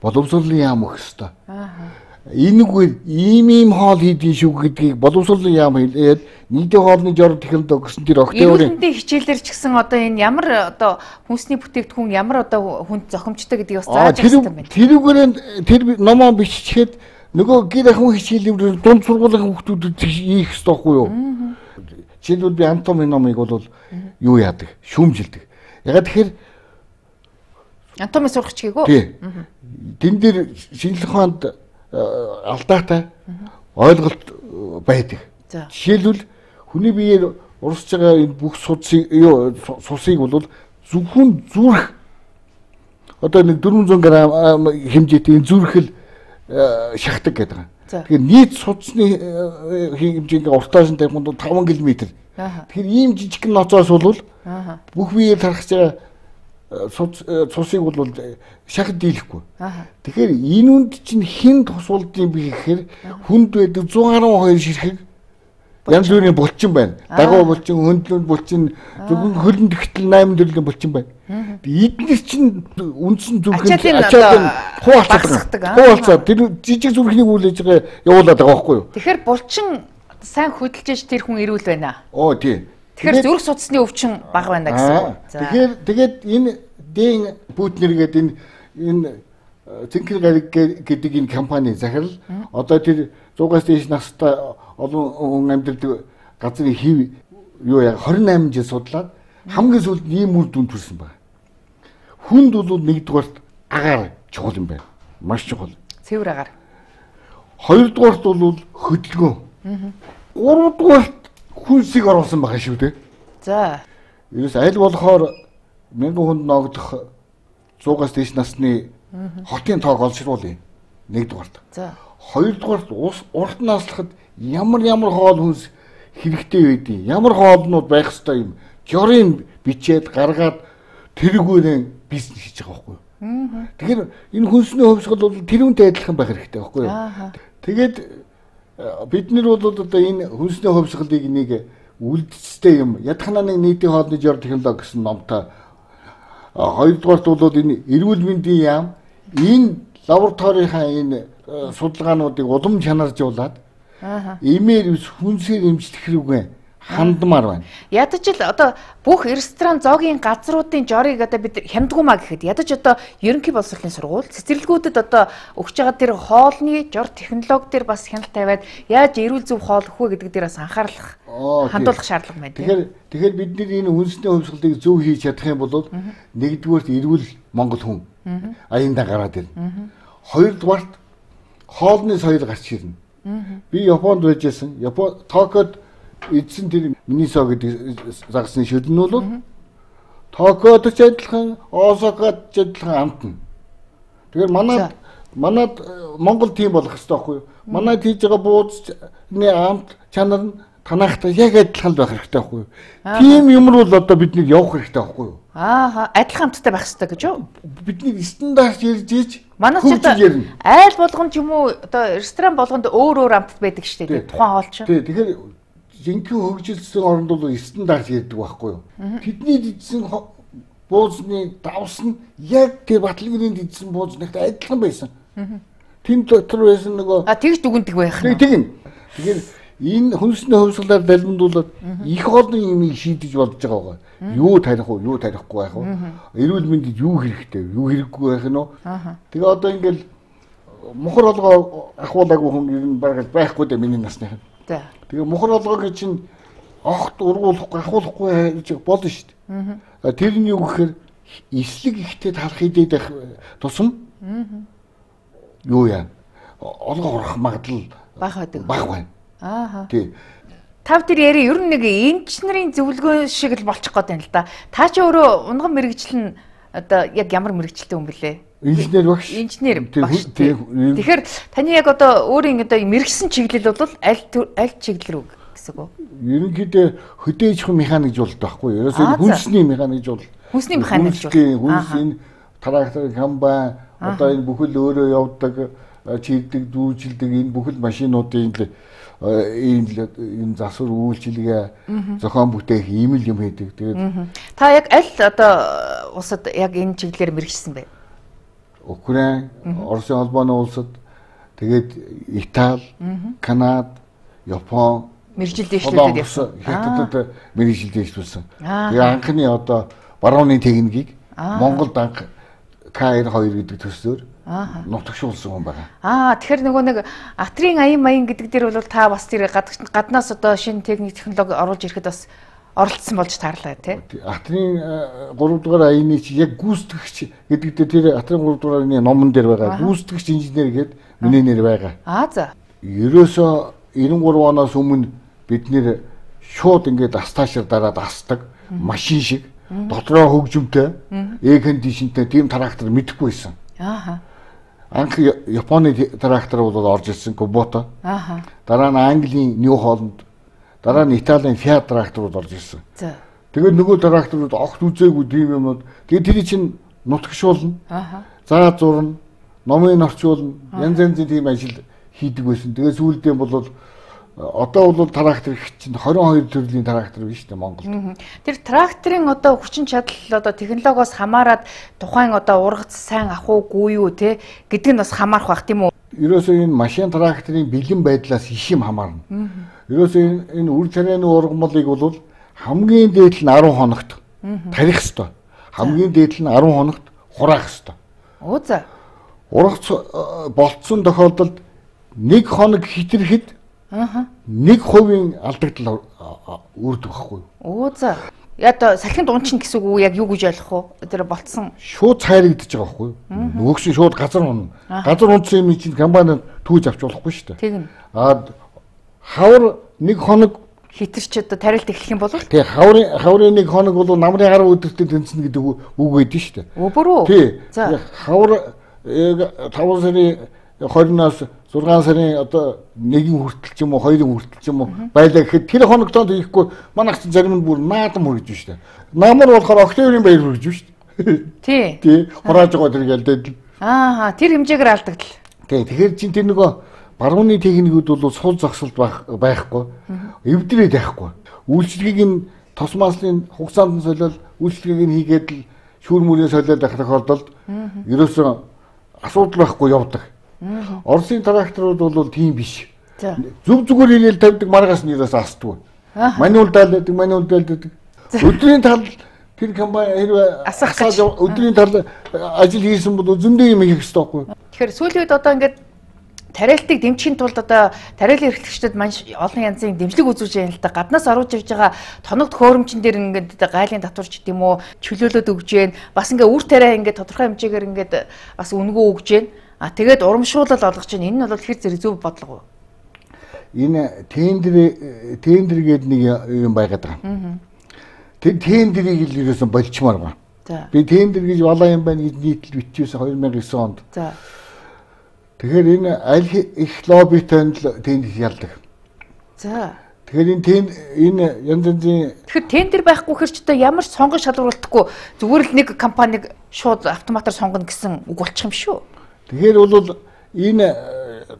боловсролын яам өгөх ёстой. Аа. Энэгээр ийм ийм хоол хийдгийг шүү гэдгийг боловсролын яам хэлээд нийтийн хоолны жор технологи гэсэн тэр октябрийн эрүүлэндийн хичээлээр ч гэсэн одоо энэ ямар одоо хүнсний бүтээгдэхүүн ямар одоо хүнд зохимжтой гэдгийг бас зааж өгсөн байна. Тэрүүгээр тэр номоо биччихэд нөгөө гэр ахуйн хичээлээр дунд сургуулийн хүүхдүүдэд хийх ёстой байхгүй юу? Жишээлбэл би анатомийн номыг бол юу яадаг? Шүүмжилдэг. Ягаад тэгэхээр анатоми сурах ч гээгүй. Тий. Тэн дээр шинжлэх ухаанд алдаатай ойлголт байдаг. Жишээлбэл хүний биеэр урсж байгаа энэ бүх судсыг юу сусыг бол зөвхөн зүрх одоо нэг four hundred грамм хэмжээтэй энэ зүрхэл шахдаг гэдэг юм. Тэгэхээр нийт судасны хэмжээ ингээ уртааш нь тавих нь five километр. Тэгэхээр ийм жижиг ноцоос бол бүх биеэр тархаж байгаа цусыг бол шахад дийлэхгүй. Тэгэхээр энэ үнд чинь хэн тусвалдсан бэ гэхээр хүнд байдаг one twelve ширхэг янз бүрийн булчин байна. Дагуу булчин, хөндлөн булчин, зөвхөн хөлн тэгтэл eight төрлийн булчин байна. Эднээс чинь үндсэн зүрхэнд ачаалын хуваалцдаг. Хуваалцаад тэр жижиг зүрхний үйл ажиллагаа явуулаад байгаа байхгүй юу? Тэгэхээр булчин сайн хөдөлж тэр хүн ирүүл байна. Оо тий. Тэгэхээр зүрх судасны өвчин бага байна гэсэн үг. Тэгэхээр тэгээд энэ дээн Путнер гэдэг энэ энэ Цэнхэр гариг гэдэг энэ компани захирал одоо тэр зугаас дээш настай олон хүн амьдардаг газрын хэв юу яа двадцать восемь жил судлаад хамгийн сүүлд ийм үр дүн төрсэн байна. Хүнд бол нэгдүгээрт агаар чухал юм байна. Маш чухал. Цэвэр агаар. Хоёрдугаарт бол хөдөлгөөн. Гуравдугаарт хүнсийг оруулсан байгаа шүү дээ. За. Ерөөс аль болохоор мянган хүнд ногдох зугаас дээш насны хотын тоог олшруулъя. Нэгдүгээрт. За. Хоёрдугаарт ус урт наслахад ямар ямар хоол хүнс хэрэгтэй байдیں۔ Ямар хоолнууд байх ёстой юм. Жорын бичээд гаргаад тэргүүрээ бизнес хийж байгаа байхгүй юу? Тэгэхээр энэ хүнсний хувьсгал бол тэрүүнтэй адилхан байх хэрэгтэй байхгүй юу? Тэгээд бид нар бол одоо энэ хүнсний хувьсгалыг нэг үлдэцтэй юм. Ядахна нэг нийтийн хоолны жор технологи гэсэн номтой. Хоёрдугаарт бол энэ эрүүл мэндийн яам энэ лабораторийнхаа энэ судалгаануудыг улам чанаржуулаад эмээр хүнсээр эмчлэх хэрэггүй хандмаар байна. Ядаж л одоо бүх ресторан зоогийн газруудын жорыг одоо бид хямдгуумаа гэхэд ядаж одоо ерөнхий боловсролын сургууль цэцэрлэгүүдэд одоо өгч байгаа тэр хоолны жор технологи дээр бас хяналт тавиад яаж эрүүл зөв хоол өгөх вэ гэдэг дээр бас анхаарлах хандуулах шаардлага байна. Тэгэхээр тэгэхээр бид нар энэ хүнсний хувьсгалыг зөв хийж чадах юм бол нэгдүгээрт эрүүл Монгол хүн аяндаа гараад ирнэ. Хоёрдугаарт хоолны соёл гарч ирнэ. Би Японд байжсэн. Япон Токиод эзэн тэр Минисо гэдэг загсны шүлэн нь бол Токиод ч адилхан, Осакад ч адилхан амтна. Тэгэхээр манад манад Монгол тийм болох хэрэгтэй байхгүй юу? Манайд хийж байгаа буудсны амт чанар нь танахтай яг адилхан байх хэрэгтэй байхгүй юу? Тийм юм бол одоо бидний явах хэрэгтэй байхгүй юу? Аа, адилхан амттай байх хэрэгтэй гэж юу? Бидний стандарт ярьж ийж манай ч айл болгонд юм уу одоо ресторан болгонд өөр өөр амт байдаг шүү дээ. Тухайн хоол чинь. Тий, тэгэхээр жинхэнэ хөгжилсэн оронд бол стандарт ярьдаг байхгүй юу? Тэдний дидсэн буузны давс нь яг тэр Батлгэрийн дидсэн буузнагтай адилхан байсан. Тэн дотор байсан нөгөө А тэгж дүгндэг байх нь. Тийм. Тэгэхээр энэ хүнсний хувьсгалаар далбандуулаад их олон юм шийдэж болж байгаа байгаа. Юу тарих уу, юу тарихгүй байх уу? Эрүүл мэндэд юу хэрэгтэй, юу хэрэггүй байх нь уу? Тэгээ одоо ингээл мухар олгоо ахуулаагүй хүн ер нь бараг байхгүй дээ миний насных нь. Тэгээ мухар олгоогийн чинь огт ургуулахгүй, ахуулахгүй гэж болно шүү дээ. Тэр нь юу гэхээр эслэг ихтэй талах идээд байх тусам юу яа? Олгоо урах магадлал бага байдаг. Бага байна. Аа. Тий. Тав тэр яри ер нь нэг эмч нарын зөвлөгөө шиг л болчих гээд байна л да. Та ч өөрөө унган мэрэгжил нь одоо яг ямар мэрэгчлээ юм бэлээ? Инженер багш. Инженер багш. Тэгэхээр таны яг одоо өөрийн одоо мэрэгсэн чиглэл бол аль аль чиглэл рүү гэсэн үг үү? Ерөнхийдөө хөдөөж хүн механикжуулалт байхгүй юу? Ерөөсөө хүнсний механикжуулалт. Хүнсний механикжуулалт. Хүнс энэ трактор, комбайн одоо энэ бүхэл өөрөө явдаг, чийдэг, дүүжилдэг энэ бүхэл машинуудын ийм энэ засвар үйлчилгээ зохион бүтээх ийм л юм хийдэг. Тэгээд та яг аль одоо улсад яг энэ чиглэлээр мэргэжсэн бэ? Украин, Оросын холбооны улсад, тэгээд Итали, Канада, Япон мэргэжил дэвшлүүлээд явсан. Хятадд мэргэжил дэвшлүүлсэн. Тэгээд анхны одоо барууны техникийг Монголд анх К двадцать two гэдэг төслөөр нутагшуулсан хүн байна. Аа тэгэхээр нөгөө нэг атрийн аян маян гэдэг дээр бол та бас тэр гаднаас одоо шинэ техник технологи оруулж ирэхэд бас оролцсон болж таарлаа тий. Атрийн гурав дугаар аяны чи яг гүйцэтгэгч гэдэг дээр тэр атрийн гурав дугаар аяны номон дээр байгаа. Гүйцэтгэгч инженер гэдэг миний нэр байгаа. Аа за. Ерөөсөө ninety three оноос өмнө бид нэр шууд ингээд астаашаар дараад астдаг машин шиг дотроо хөгжимтэй эйр кондишнтэй тийм трактор мэдэхгүй байсан. Ааха. Анх Японы трактор бол орж ирсэн Кубото. Ааха. Дараа нь Английн Нью Холланд, дараа нь Италийн Fiat тракторууд орж ирсэн. За. Тэгээд нөгөө тракторууд огт үзээгүй тийм юмнууд. Тэгээд тэр чинь нутагшуулна. Ааха. Заа зурна, номын орчуулна, янз янзын тийм ажил хийдэг байсан. Тэгээд сүүлдээ бол одоо бол трактор чинь twenty-two төрлийн трактор биш үү Монголд. Тэр тракторын одоо хүчин чадал одоо технологиос хамаарат тухайн одоо ургац сайн ах уугүй юу те гэдэг нь бас хамаарх бах тийм үү? Ерөөсөө энэ машин тракторын бэлэн байдлаас иш юм хамаарна. Ерөөсөө энэ үр царайны ургамлыг бол хамгийн дээд нь арван хоногт тарих ёстой. Хамгийн дээд нь арван хоногт хураах ёстой. Оо за. Ургац болцсон тохиолдолд нэг хоног хитрхэд Аа. нэг хувийн алдагдал үүрдэг байхгүй юу? Оо за. Яа салхинд унчин гэсэн үг яг юу гэж ойлгох вэ? Тэр болцсон. Шууд цайрагдаж байгаа байхгүй юу? Нөгөөс нь шууд газар унна. Газар унтсан юм чинь компани түүж авч болохгүй шүү дээ. Тэгнь. Аа хавар нэг хоног хитэрч одоо тариалт эхлэх юм бол тий хаврын хаврын нэг хоног бол намрын гараа өдөртөө тэнцэнэ гэдэг үг байдаг шүү дээ. Өвөрөө. Тий. За. Хавар таван сарын хойноос зургаан сарын одоо нэгэн хүртэл ч юм уу хоёрын хүртэл ч юм уу байлаа гэхэд тэр хоногтоо хийхгүй манайх чинь зарим нь бүр наадам хүргэж байна шүү дээ. Намар болохоор октябрийн баяр хүргэж байна шүү дээ. Тий. Тий. Хурааж байгаа тэр гэлдээд. Аа тэр хэмжээгээр алдагдал. Тий. Тэгэхээр чинь тэр нөгөө барууны техникүүд бол сул зогсолт байхгүй. Эвдрээд байхгүй. Үйлчлэгийг нь тос маслын хугацаанд нь солиод үйлчлэгийг нь хийгээд л шүүр мөрийн солиод байх тохиолдолд ерөөсөө асуудал байхгүй явдаг. Оросын тракторууд бол тийм биш. Зүг зүгээр ирээл тавьдаг маргаас нь ерөөс асдгүй. Мануул даалдаг, мануул даалдаг. Өдрийн тал тэр компани хэрвээ асааж өдрийн тал ажил хийсэн бол зөндөө юм хийх хэрэгтэй байхгүй. Тэгэхээр сүүлийн үед одоо ингээд тариалтыг дэмжихийн тулд одоо тариалан эрхлэгчдэд маш олон янзын дэмжлэг үзүүлж байна л да. Гаднаас оруулж явж байгаа тоног төхөөрөмчн дээр ингээд гайлын татварч гэдэг юм уу чөлөөлөд өгж байна. Бас ингээд үр тариа ингээд тодорхой хэмжээгээр ингээд бас үнгөө өгж байна. А тэгээд урамшуулал олгож байна. Энэ нь бол хэр зэрэг зөв бодлого вэ? Энэ тендер тендер гэдэг нэг юм байгаад байгаа. Тэр тендерийг л ерөөсөн болчмаар байна. Би тендер гэж балаа юм байна гэж нийтлэл биччихсэн хоёр мянган и девять онд. За. Тэгэхээр энэ аль их лоббитой л тендер ялдаг. За. Тэгэхээр энэ тен энэ янз янзын Тэгэхээр тендер байхгүй хэр ч одоо ямар ч сонгон шалгуулалтгүй зүгээр л нэг компаниг шууд автоматар сонгоно гэсэн үг болчих юм шүү. Тэгэхээр бол энэ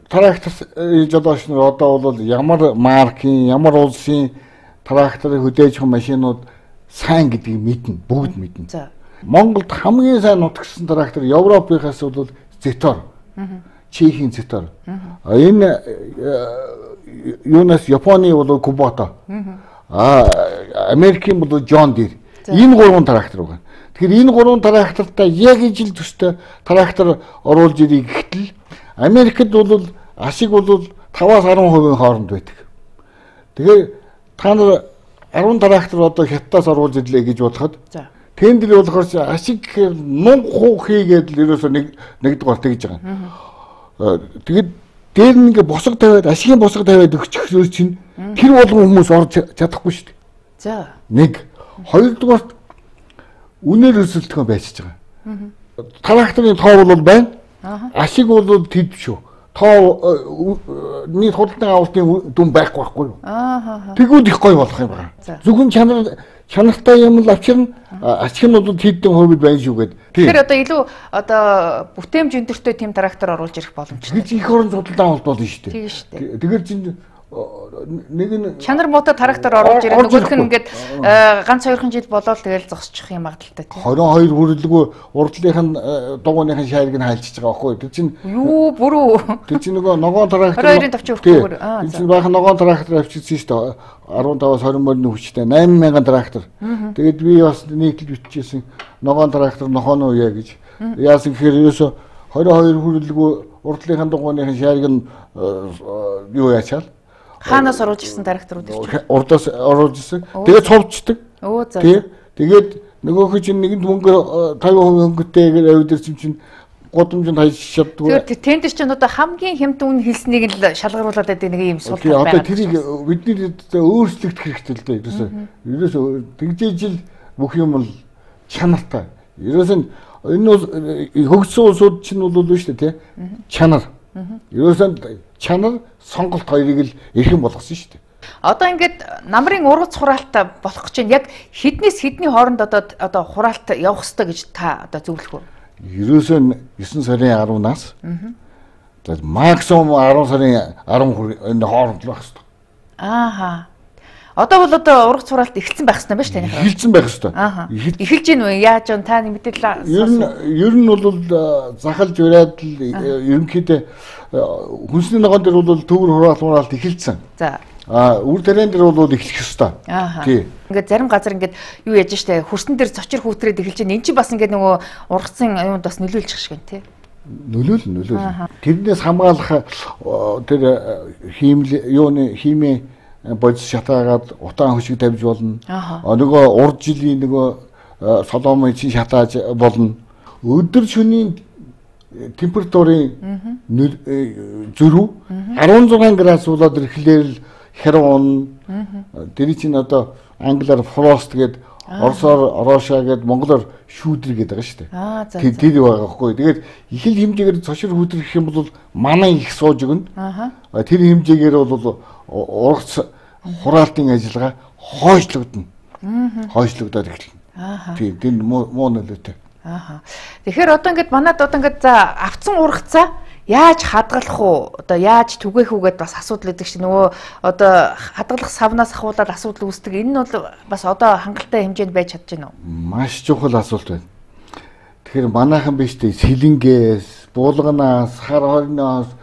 трактор жолооч нар одоо бол ямар маркийн, ямар улсын тракторыг хөдөөж байгаа машинууд сайн гэдгийг мэднэ, бүгд мэднэ. За. Монголд хамгийн сайн нутагсан трактор Европынхаас бол Зетор. Чехийн Зетор. А энэ юунаас Японы бол Кубото. А Америкийн бол John Deere. Энэ гурван трактор байна. Тэгэхээр энэ гурван трактортай яг ижил төстэй трактор оруулж ирэх гэтэл Америкт бол ашиг бол таваас арван хувийн хооронд байдаг. Тэгэхээр та нар арван трактор одоо хятадаас оруулж ирлээ гэж бодоход тендер болохоор ашиг гэхээр нуг хийгээд л ерөөсөө нэг нэгдүгээр тэгж байгаа. Тэгээд дээр нь ингээ босго тавиад ашигын босго тавиад өгчих чинь тэр болгон хүмүүс орж чадахгүй шүү дээ. За. Нэг хоёрдугаар үнээр өсөлтгөө байцж байгаа. Тракторын тоо бол байна. Ашиг бол тэд шүү. Тоо нийт худалдан авалтын дүн байхгүй байхгүй юу? Аа. Тэгвэл их гоё болох юм байна. Зөвхөн чанар чанартай юм л авчирна. Ашиг нь бол тэдний хувьд байна шүү гэдэг. Тэгэхээр одоо илүү одоо бүтээмж өндөртэй тэм трактор оруулж ирэх боломжтой. Гэж их орон худалдан авалт болно шүү дээ. Тийм шүү дээ. Тэгэхээр чинь нэг нь чанар муутай трактор оруулж ирэх нөгөөх нь ингээд ганц хоёрхан жил болоод тэгэл зогсчих юм магадaltaй тийм. двадцать two хүрэлгүй урдлынхын дугууныхын шайрыг нь хайлчиж байгаа байхгүй. Тэр чинь юу бүрүү. Тэр чинь нөгөө ногоон трактор двадцать two-ын товч өрхгүйгээр. Аа. Тэр чинь баахан ногоон трактор авчирсан шүү дээ. фifteen-аас twenty мөрний хүчтэй eight thousand трактор. Тэгээд би бас нийтлж бичижсэн ногоон трактор нохооно уяа гэж. Яасан гэхээр ерөөсө twenty-two хүрэлгүй урдлынхын дугууныхын шайрыг нь юу яачаал хаанаас оруулж ирсэн тракторууд ирж урдаас оруулж ирсэн. Тэгээд цовчдаг. Оо за. Тэгээд нөгөөх чинь нэгэнд мөнгө fifty percent хөнгөтэйгээр авдирсан чинь гудамжинд хаяж чаддгүй. Тэгээд тендер чинь одоо хамгийн хямд үн хэлснийг л шалгаруулад байдаг нэг юм сул тал байна. Одоо тэрийг бидний өөрчлөгдөх хэрэгтэй л дээ. Ерөөсөө ерөөсөө тэгжээж л бүх юм л чанартай. Ерөөсөө энэ хөгжсөн улсууд чинь бол үү шүү дээ, тий? Чанар. Ерөөсөө чанар сонголт хоёрыг л эрхэм болгосон шүү дээ. Одоо ингээд намрын ургац хураалт болох гэж байна. Яг хэднээс хэдний хооронд одоо одоо хураалт явах ёстой гэж та одоо зөвлөх үү? Ерөөсөө nine сарын ten-аас за максимум ten сарын ten энэ хооронд л байх ёстой. Ааха. Одоо бол одоо ургац хураалт эхэлсэн байх ёстой юм байна шүү дээ. Эхэлсэн байх ёстой. Эхэлж гин үү? Яаж вэ? Та мэдээлэл ер нь ер нь бол захалж ураад л ерөнхийдөө хүнсний ногоон дээр бол төвөр хураалт хураалт эхэлсэн. За. А үр тариан дээр бол эхлэх ёстой. Тий. Ингээд зарим газар ингээд юу яаж штэ хөрсөн дээр цочир хүүтрээд эхэлж байна. Энд чинь бас ингээд нөгөө ургацсан юунд бас нөлөөлчих шиг байна тий. Нөлөөл нөлөөл. Тэрнээс хамгаалах тэр хиймэл юуны химийн бодис шатаагаад утаан хөшиг тавьж болно. Нөгөө урд жилийн нөгөө соломын чин шатааж болно. Өдөр шөнийн температурын зөрүү арван зургаан градус болоод ирэхлээр л херон тэр чинь одоо англиар фрост гэдэг орсоор ороошаа гэдэг монголоор шүүдэр гэдэг байгаа шүү дээ. Тэр байгаа хгүй. Тэгээд их л хэмжээгээр цошир хүдрэх юм бол манай их сууж өгнө. Тэр хэмжээгээр бол ургац хураалтын ажиллагаа хойшлогдно. Хойшлогдоод эхэлнэ. Тийм тэр муу нөлөөтэй. Ааха. Тэгэхээр одоо ингээд манад одоо ингээд за авцсан ургацаа яаж хадгалах уу? Одоо яаж түгээх үү гэдээ бас асуудал өгдөг чинь нөгөө одоо хадгалах савнаас ахуулаад асуудал үүсдэг. Энэ нь бол бас одоо хангалттай хэмжээнд байж чадж байна уу? Маш чухал асуулт байна. Тэгэхээр манайхан биш дээ Сэлэнгээс, Булганаас, Хар хорноос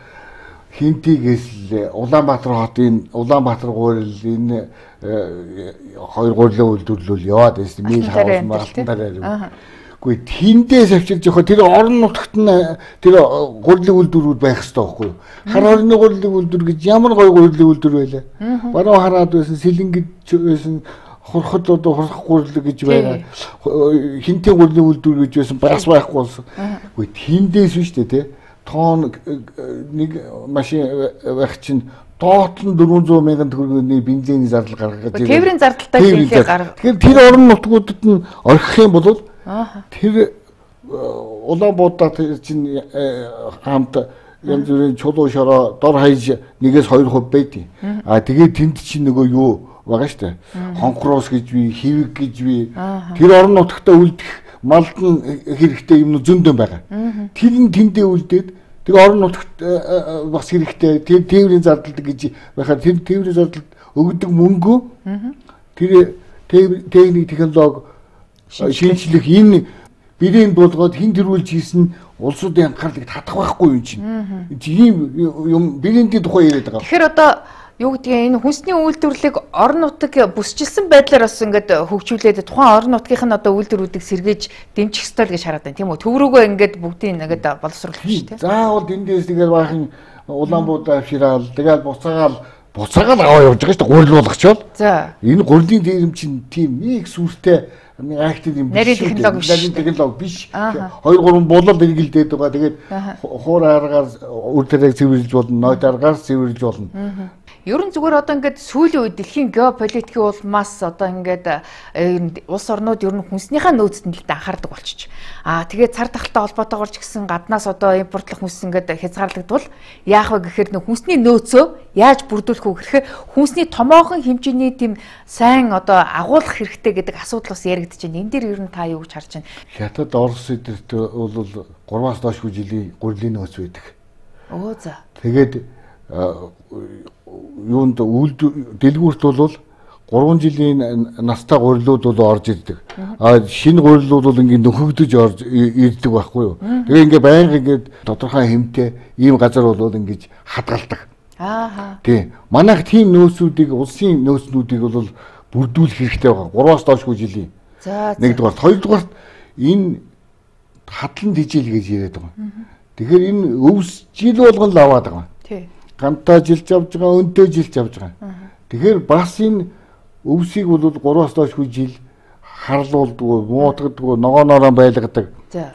Хинтигээс л Улаанбаатар хотын Улаанбаатар гурил энэ хоёр гурилын үйлдвэрлэл яваад байсан. Мэл хаус мартан дараа. Гэхдээ тэндээс авчирж явах тэр орон нутагт нь тэр гурилын үйлдвэрүүд байх хэрэгтэй байхгүй юу? Хар хорны гурилын үйлдвэр гэж ямар гоё гурилын үйлдвэр байлаа. Баруун хараад байсан Сэлэнгэж байсан хурхад одоо хурх гурил гэж байгаа. Хинтийн гурилын үйлдвэр гэж байсан бас байхгүй болсон. Гэхдээ тэндээс биш үү те? Тоон нэг машин байх чинь доот нь дөрвөн зуун мянган төгрөгийн бензиний зардал гаргаж байгаа. Тээврийн зардалтай хийхээ гаргах. Тэгэхээр тэр орон нутгуудад нь орхих юм бол тэр Улаанбаатар чинь хамт янз бүрийн чулуу шороо дор хаяж нэгээс хоёр хувь байдیں۔ А тэгээд тэнд чинь нөгөө юу байгаа штэ. Хонхроос гэж би, хэвэг гэж би тэр орон нутагтаа үлдэх малд нь хэрэгтэй юм зөндөө байгаа. Тэр нь тэндээ үлдээд тэр орон нутагт бас хэрэгтэй тэр тээврийн зардал гэж байхаар тэр тээврийн зардалд өгдөг мөнгө тэр техник технологи шинжлэх энэ бэрийн болгоод хин төрүүлж хийсэн улсуудын анхаарлыг татах байхгүй юм чинь. Тийм юм бэрийн тухай яриад байгаа. Тэгэхээр одоо юу гэдгийг энэ хүнсний үйлдвэрлэлийг орон нутаг бүсчилсэн байдлаар бас ингээд хөгжүүлээд тухайн орон нутгийнх нь одоо үйлдвэрүүдийг сэргээж дэмжих ёстой л гэж хараад байна тийм үү? Төврөөгөө ингээд бүгдийг ингээд боловсруулах шүү дээ. Заавал эндээс тэгэл баахан Улаанбаатар авшираал тэгэл буцаагаал буцаагаал аваа явж байгаа шүү дээ гурил болгочоод. За. Энэ гурилын дэрэм чинь тийм нэг сүртэй актив юм биш. Нарийн технологи биш. Нарийн технологи биш. Хоёр гурван булал эргэлдээд байгаа. Тэгээд хуур аргаар үр тариаг цэвэрлж болно, ноёд аргаар цэвэрлж болно. Ер нь зүгээр одоо ингээд сүүлийн үед дэлхийн геополитикийн улмаас одоо ингээд улс орнууд ер нь хүнснийхээ нөөцөнд л анхаардаг болчих. Аа тэгээд цар тахалтай холбоотойгоор ч гэсэн гаднаас одоо импортлох хүнс ингээд хязгаарлагдвал яах вэ гэхээр нөх хүнсний нөөцөө яаж бүрдүүлэх вэ гэхээр хүнсний томоохон хэмжээний тийм сайн одоо агуулгах хэрэгтэй гэдэг асуудал бас яригдэж байна. Энэ дээр ер нь та юу гэж харж байна? Хятад, Орос эдэрт бол гурваас доошгүй жилийн гурилын нөөц байдаг. Оо за. Тэгээд юунд үйлдвэр дэлгүүрт бол гурван жилийн настай гурилууд бол орж ирдэг. А шинэ гурилууд бол ингээд нөхөгдөж орж ирдэг байхгүй юу. Тэгээ ингээд байнга ингээд тодорхой хэмтэй ийм газар бол ингээд хадгалдаг. Аа. Тий. Манайх тийм нөөцүүдийг улсын нөөцнүүдийг бол бүрдүүлэх хэрэгтэй байгаа. гурваас доошгүй жилийн. За. Нэгдүгээр, хоёрдугаар энэ хадлан тижэл гэж яриад байгаа. Тэгэхээр энэ өвс жил болгон л аваад байгаа. Тий. Гантаа жилж авж байгаа, өнтөө жилж авж байгаа. Тэгэхээр бас энэ өвсийг бол гурваас доошгүй жил харлуулдгүй, муутгадгүй, ногооноороо байлгадаг.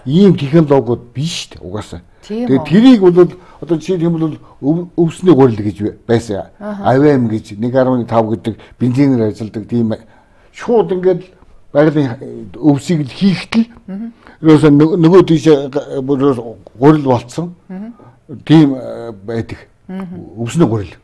Ийм технологиуд биш шүү дээ угаасаа. Тэгээд тэрийг бол одоо жишээ нь бол өвсний гурил гэж байсан. АВМ гэж нэг гаруй тав гэдэг бензинээр ажилладаг тийм шууд ингээд байгалийн өвсийг л хийхдээ ерөөсөө нөгөө тийш гурил болцсон. Тийм байдаг. Өвсний гурил.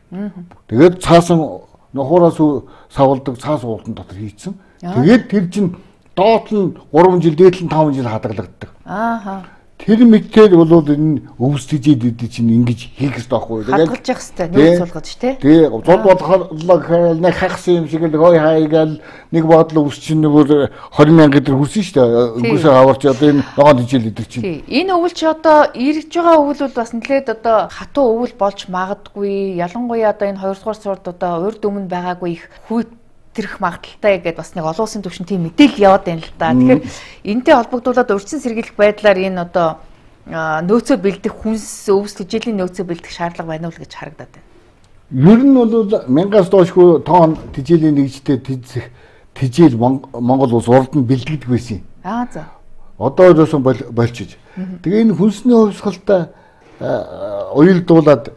Тэгээд цаасан нохоороос савлдаг цаас уултан дотор хийцэн. Тэгээд тэр чинь доот нь гурван жил, дээдл нь таван жил хадгалагддаг. Ааха. тэр мэтээр бол энэ өвс тэжээд чинь ингэж хийх хэрэгтэй байхгүй. Хадгалж явах хэрэгтэй. Нүүр суулгаж тий. Тий. Зод бодлоо нэг хагсан юм шиг л хой хайгаал нэг бодлоо өвс чинь бүр двадцать мянга гэдэг хүрсэн шүү дээ. Өнгөөсөө аварч одоо энэ ногоон тэжээл идэх чинь. Тий. Энэ өвөл чи одоо ирж байгаа өвөл бол бас нэлээд одоо хатуу өвөл болж магадгүй. Ялангуяа одоо энэ хоёрдугаар сурд одоо урд өмнө байгаагүй их хүйт тэрх магадaltaй гэдээ бас нэг олон улсын түвшин тийм мэдээлэл яваад байна л да. Тэгэхээр энэтэй холбогдуулаад урьдчилан сэргийлэх байдлаар энэ одоо нөөцөө бэлдэх хүнс өвс тэжээлийн нөөцөө бэлдэх шаардлага байна уу гэж харагдаад байна. Ер нь бол мянгаас доошгүй тоон тэжээлийн нэгжтэй тэжээх тэжээл Монгол улс урд нь бэлдэгдэх байсан юм. Аа за. Одоо өөрөөсөө болчихж. Тэгээ энэ хүнсний хувьсгалтай уялдуулаад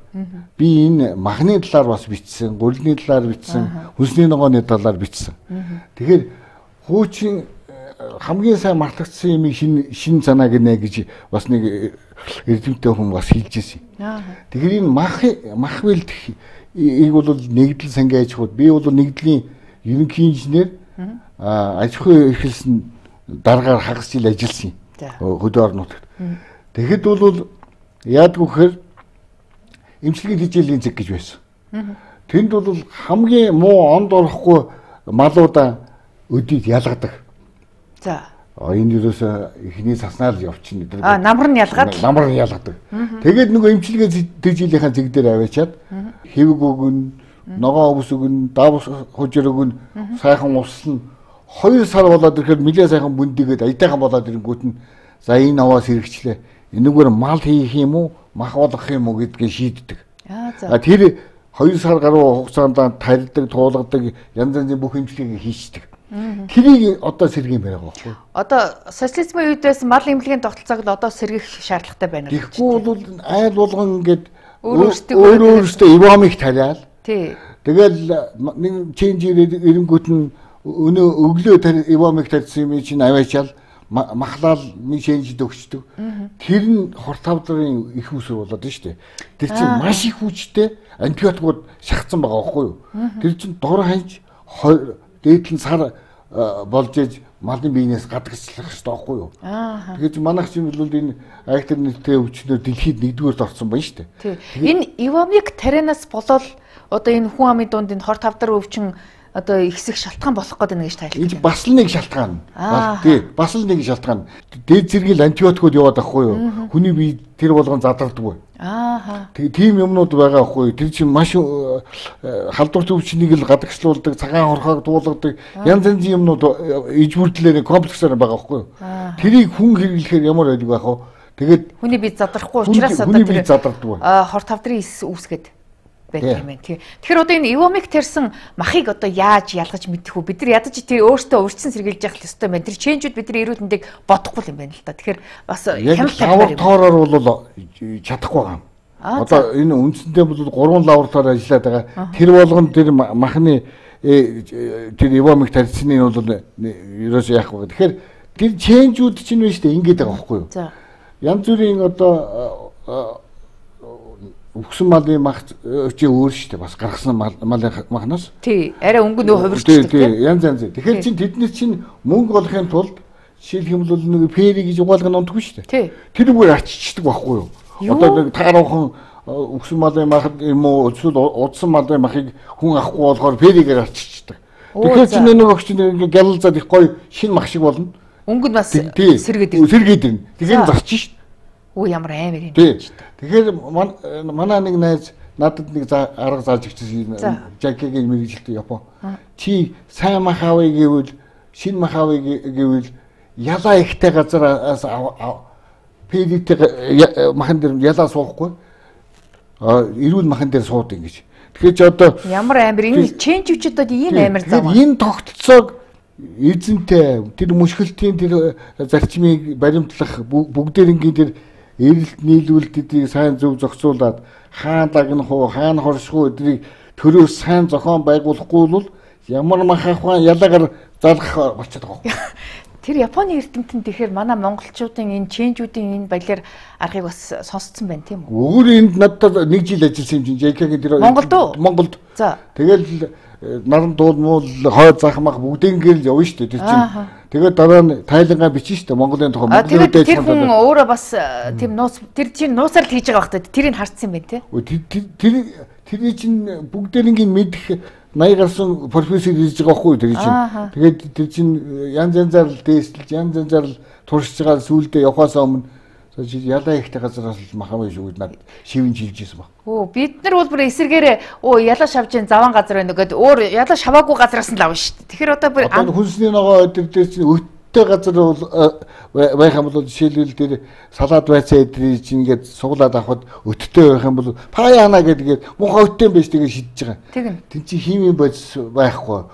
би энэ махны талаар бас бичсэн, гурилны талаар бичсэн, хүнсний ногооны талаар бичсэн. Тэгэхээр хуучин хамгийн сайн мартагдсан юм шин шин санаа гинэ гэж бас нэг эрдэмтдээ хүн бас хэлж ирсэн. Тэгэхээр энэ мах мах бэлдэх ийг бол нэгдэл сангийн аж ахуйд би бол нэгдлийн ерөнхий инженер аж ахуй эрхэлсэн дараагаар хагас жил ажилласан юм. Хөдөө орон нутагт. Тэгэхэд бол яадгүй гэхээр эмчилгээ тэжээлийн зэг гэж байсан. Тэнд бол хамгийн муу онд орохгүй малуудаа өдийд ялгадаг. За. Энэ юусаа ихний цаснаар явчихна гэдэг. Аа намар нь ялгаад намар нь ялгадаг. Тэгээд нөгөө эмчилгээ тэжээлийн зэг дээр аваачаад хэвэг өгөн, ногоо өвс өгөн, давс хужир өгөн, сайхан услан хоёр сар болоод ирэхээр нэлээд сайхан бүндигээд аятайхан болоод ирэнгүүт нь за энэ аваас хэрэгчлээ. Энэгээр мал хийх юм уу, мах болгох юм уу гэдгийг шийддэг. Аа за. Тэр хоёр сар гаруй хугацаанд тарилдаг, туулгадаг, янз янзын бүх эмчилгээг хийждэг. Тэрийг одоо сэргийн байгаа байхгүй. Одоо социализмын үед байсан мал эмнэлгийн тогтолцоог л одоо сэргийх шаардлагатай байна уу? Тэгэхгүй бол айл болгон ингээд өөр өөрөөсөө ивомыг тариал. Тий. Тэгэл нэг ченж ирэнгүүт нь өнөө өглөө ивомыг тарьсан юм чинь аваачаал махлал нэг шэнжид өгчдөг. Тэр нь хорт тавдрын их усөр болоод шүү дээ. Тэр чинь маш их хүчтэй антибиотикууд шахацсан байгаа байхгүй юу? Тэр чинь дор ханж дээдлэн сар болж иж малын биенээс гадагшлах хэрэгтэй байхгүй юу? Тэгэхээр манайх чинь бол энэ актер нэртэй өвчнөр дэлхийд нэгдүгээрт орсон байна шүү дээ. Энэ ивомик тарианаас болоод одоо энэ хүн амын дунд энэ хорт тавдар өвчин одоо ихсэх шалтгаан болох гэдэг нэг тайлбар. Энэ бас л нэг шалтгаан. Тий, бас л нэг шалтгаан. Дээд зэргийн антибиотикууд яваад байхгүй юу? Хүний бие тэр болгон задардаггүй. Аа. Тэгээ тийм юмнууд байгаа байхгүй юу? Тэр чинь маш халдвар төвчнийг л гадагшлуулдаг, цагаан хорхоог дуулгадаг, янз янзын юмнууд ижбүрдлээр комплексээр байгаа байхгүй юу? Тэрийг хүн хэрэглэхээр ямар байдаг байх вэ? Тэгээд хүний бие задрахгүй учраас одоо хүний бие задардаггүй. Аа, хорт тавдрын ис үүсгээд байдаг юм тий. Тэгэхээр одоо энэ ивомик тарьсан махыг одоо яаж ялгаж мэдэх вэ? Бид нар ядаж тэр өөртөө урьдчилан сэргийлж явах ёстой байна. Тэр ченжүүд бидний эрүүл мэндэд бодохгүй юм байна л да. Тэгэхээр бас хяналт тавьдаг юм. Лабораториор бол чадахгүй байгаа юм. Одоо энэ үндсэндээ бол гурван лаборатори ажиллаад байгаа. Тэр болгон тэр махны тэр ивомик тарьсны бол ерөөс яах вэ? Тэгэхээр тэр ченжүүд чинь байна шүү дээ. Ингээд байгаа байхгүй юу? За. Янз бүрийн одоо өгсөн малын мах чи өөр шүү дээ. Бас гаргасан малын махнаас. Тий, арай өнгө нөө хувирчдаг тийм. Янз янз. Тэгэхээр чин тэднэр чин мөнгө олохын тулд жишээлх юм бол нэг фэри гэж угаалгыг унтгүй шүү дээ. Тэр үгээр арчичдаг байхгүй юу? Одоо нэг тааруухан өгсөн малын мах юм уу эсвэл удсан малын махыг хүн авахгүй болохоор фэригээр арчичдаг. Тэгэхээр чин нэг огч нэг гялалзаад их гоё шин мах шиг болно. Өнгө нь бас сэргээд ирнэ. Сэргээд ирнэ. Тэгэхээр зарчих шүү дээ. Оо ямар амар юм. Тэгэхээр манай нэг найз надад нэг арга зааж өгсөн жакегийн мэрэгжилтэй Япон. Чи сайн мах авъя гэвэл шин мах авъя гэвэл ялаа ихтэй газараас пэдитэй махан дээр ялаа суухгүй. А эрүүл махан дээр сууд ингэж. Тэгэхээр ч одоо ямар амар энэ ченж үчид одоо ийм амар зам. Энэ тогтолцоог эзэнтэй тэр мушгилтийн тэр зарчмыг баримтлах бүгдээрингийн тэр эрэлт нийлүүлэлтийг сайн зөв зохицуулаад хаана лагнах уу, хаана хорших уу эднийг төрөөс сайн зохион байгуулахгүй бол ямар мах ахваа ялагаар залгах болчиход байгаа. Тэр Японы эрдэмтэн тэгэхээр манай монголчуудын энэ ченжүүдийн энэ баялаар аргыг бас сонсцсон байна тийм үү? Өөр энд надад нэг жил ажилласан юм чинь жэ ка-гийн тэр Монголд уу? Монголд. За. Тэгэл наран дуул муул хойд захмах бүгдийн гэрэл явна шүү дээ тэр чинь. Тэгээд дараа нь тайлангаа бичнэ шүү дээ Монголын тухай. Монголын үдээ тэр хүн өөрөө бас тийм нууц тэр чинь нууцаар л хийж байгаа байхгүй тэрийг харсан юм байна те. Тэр тэр тэрний чинь бүгдээрийн мэдэх наяа гарсан профессор хийж байгаа байхгүй тэр чинь. Тэгээд тэр чинь янз янзаар л дээсэлж янз янзаар л туршиж байгаа сүулдэ явахаас өмнө ялаа ихтэй газараас л махам биш үү над шивэн жилжсэн баг. Оо бид нар бол бүр эсэргээрээ оо ялаа шавжин заван газар байна гэдэг өөр ялаа шаваагүй газараас нь л авна шүү дээ. Тэгэхээр одоо бүр хүнсний ногоо өдөр дээр чинь өттэй газар бол байх юм бол жишээлбэл тэр салаад байцаа эдрий чинь ингээд суглаад авахд өттэй байх юм бол паяана гэдэг муухай өттэй байж тэгээ шидэж байгаа. Тэгнь. Тин чи химийн бодис байхгүй.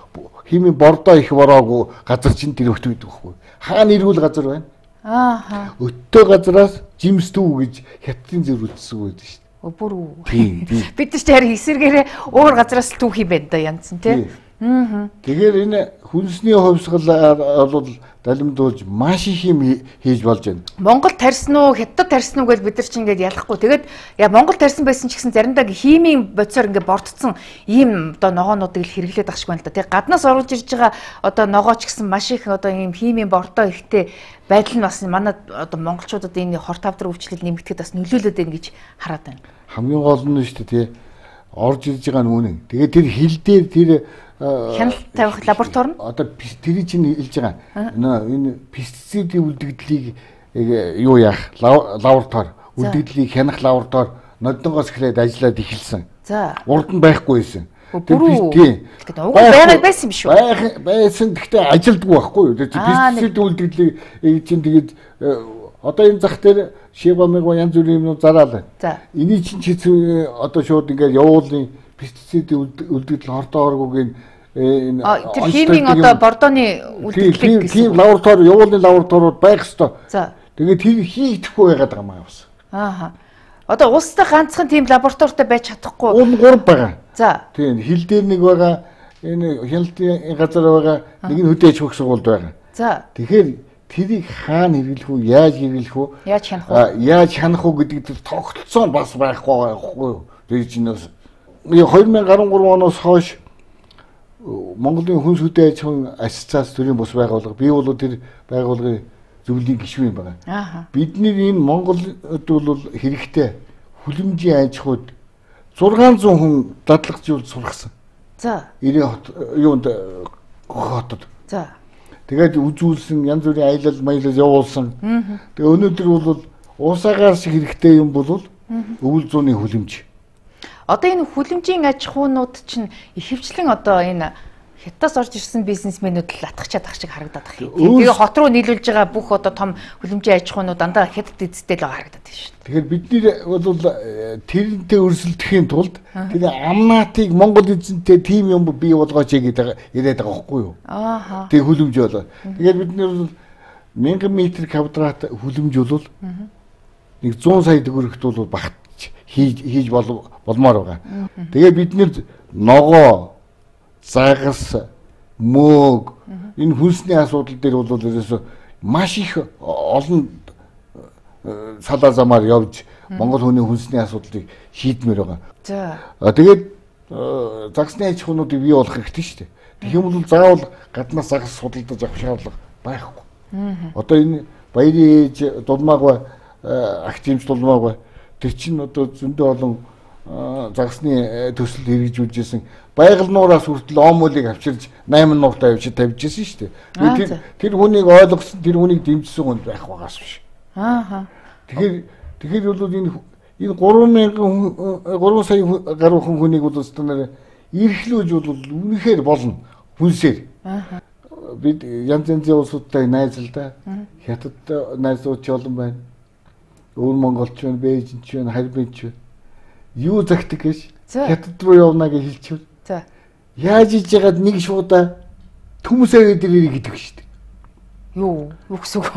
Химийн бордоо их бороогүй газар чинь тэр өттэй байдаг байхгүй. Хаана ирүүл газар байна? Ааха. Өттэй газараас жимстүү гэж хятадын зэр үтсэг байдаг шүү дээ. Бүр үү. Тийм. Бид нар ч харин эсэргээрээ өөр газараас л түүх юм байна да янз нь тий. Аа. Тэгэхээр энэ хүнсний хувьсгал бол далимдуулж маш их юм хийж болж байна. Монгол тарьсан уу, хятад тарьсан уу гэж бид нар ч ингээд ялахгүй. Тэгээд яа Монгол тарьсан байсан ч гэсэн заримдаа химийн бодисоор ингээд бордцсон ийм одоо ногоонуудыг л хэрэглээд ахшгүй байна л да. Тэг гаднаас оруулж ирж байгаа одоо ногоо ч гэсэн маш их одоо ийм химийн бордоо ихтэй байдал нь бас манай одоо монголчуудад энэ хор тавдар өвчлөл нэмэгдэхэд бас нөлөөлөд байна гэж хараад байна. Хамгийн гол нь шүү дээ тий. Орж ирж байгаа нь үнэн. Тэгээд тэр хил дээр тэр хяналт тавих лаборатори нь одоо тэр чинь хэлж байгаа. Энэ пестицидийн үлдэгдлийг юу яах лаборатори үлдэгдлийг хянах лаборатори нодонгоос эхлээд ажиллаад эхэлсэн. За. Урд нь байхгүй байсан. Тийм. Тэгээд уг байгаад байсан юм шүү. Байх байсан. Гэхдээ ажилдгүй байхгүй юу. Тэр пестицидийн үлдэгдлийг чинь тэгээд одоо энэ зах дээр шива мэгва янз бүрийн юмнууд зараалаа. За. Эний чинь чи одоо шууд ингээд явуулын пестицидийн үлдэгдэл хортоо оргуугийн энэ тэр химийн одоо бордооны үлдэгдлийг гэсэн. Тийм лаборатори явуулын лабораториуд байх ёстой. За. Тэгээд тэр хийгдэхгүй байгаад байгаа юм аа бас. Ааха. Одоо улстай ганцхан тийм лабораторитой байж чадахгүй. Уул гурав байгаа. За. Тийм хил дээр нэг байгаа. Энэ хяналтын газар байгаа. Нэг нь хөдөө аж ахуйн сургуульд байгаа. За. Тэгэхээр тэрийг хаана хэрэглэх үү, яаж хэрэглэх үү? Яаж хянах вэ? Яаж хянах уу гэдэг тогтолцоо нь бас байхгүй байхгүй юу? Тэр чинь бас две тысячи десять оноос хойш Монголын хүнс хөдөө аж ахуйн ассоциац төрийн бус байгууллага би бол тэр байгууллагын зөвлөлийн гишүүн юм байна. Аа. Бидний энэ Монголд бол хэрэгтэй хүлэмжийн аж ахуйд зургаан зуун хүн дадлагжуулж сургасан. За. Ирээ юунд хотод. За. Тэгээд үзүүлсэн янз бүрийн аялал маялал явуулсан. Тэгээ өнөөдөр бол уусаагаар шиг хэрэгтэй юм бол өвөл зууны хүлэмж. Одоо энэ хүлэмжийн аж ахуйнууд чинь ихэвчлэн одоо энэ хятадаас орж ирсэн бизнесмэнүүд л атгачаад ах шиг харагдаад байна. Тэгээ хот руу нийлүүлж байгаа бүх одоо том хүлэмжийн аж ахуйнууд дандаа хятад эзэдтэй л харагдаад байна шүү. Тэгэхээр бид бол тэрнтэй өрсөлдөхийн тулд тэр амнаатыг Монгол эзэнтэй тим юм бий болгооч гэдэг яриад байгаа байхгүй юу? Ааха. Тэг хүлэмж болоо. Тэгэхээр бид нэр мянган метр квадрат хүлэмж бол нэг зуун сая төгрөгт бол багт хийж хийж болмоор байгаа. Тэгээ бид нэр ногоо, загас, мөөг энэ хүнсний асуудал дээр бол ерөөсө маш их олон салаа замаар явж Монгол хүний хүнсний асуудлыг шийдмээр байгаа. За. Тэгээд загсны аж ахуйнуудыг бий болох хэрэгтэй шүү дээ. Тэгэх юм бол заавал гаднаас загас судалдаж авах шаардлага байхгүй. Одоо энэ баярын ээж дулмааг ба активч дулмааг ба тэр чинь одоо зөндөө олон загсны төсөл хэрэгжүүлж исэн байгаль нуураас хүртэл омолыг авчирж восемь нууртай авчиж тавьж исэн шүү дээ. Тэр тэр хүнийг ойлгосон, тэр хүнийг дэмжсэн хүн байх байгаас биш. Ааха. Тэгэхээр тэгэхээр бол энэ энэ гурван мянган гурван сая гаруй хүнийг бол станаар эрхлүүлж бол үнэхээр болно хүнсээр. Ааха. Бид янз янзын улсуудтай найзалдаа хятадтай найзууд ч олон байна. Өвөр монголч байна, бээжинч байна, харьбинч байна. Юу загтаг гэж хятад руу явна гэж хэлчихв. За. Яаж иж яагаад нэг шуудаа төмөсөө дээр ирэх гэдэг шүү дээ. Юу, юу гэсэн үг?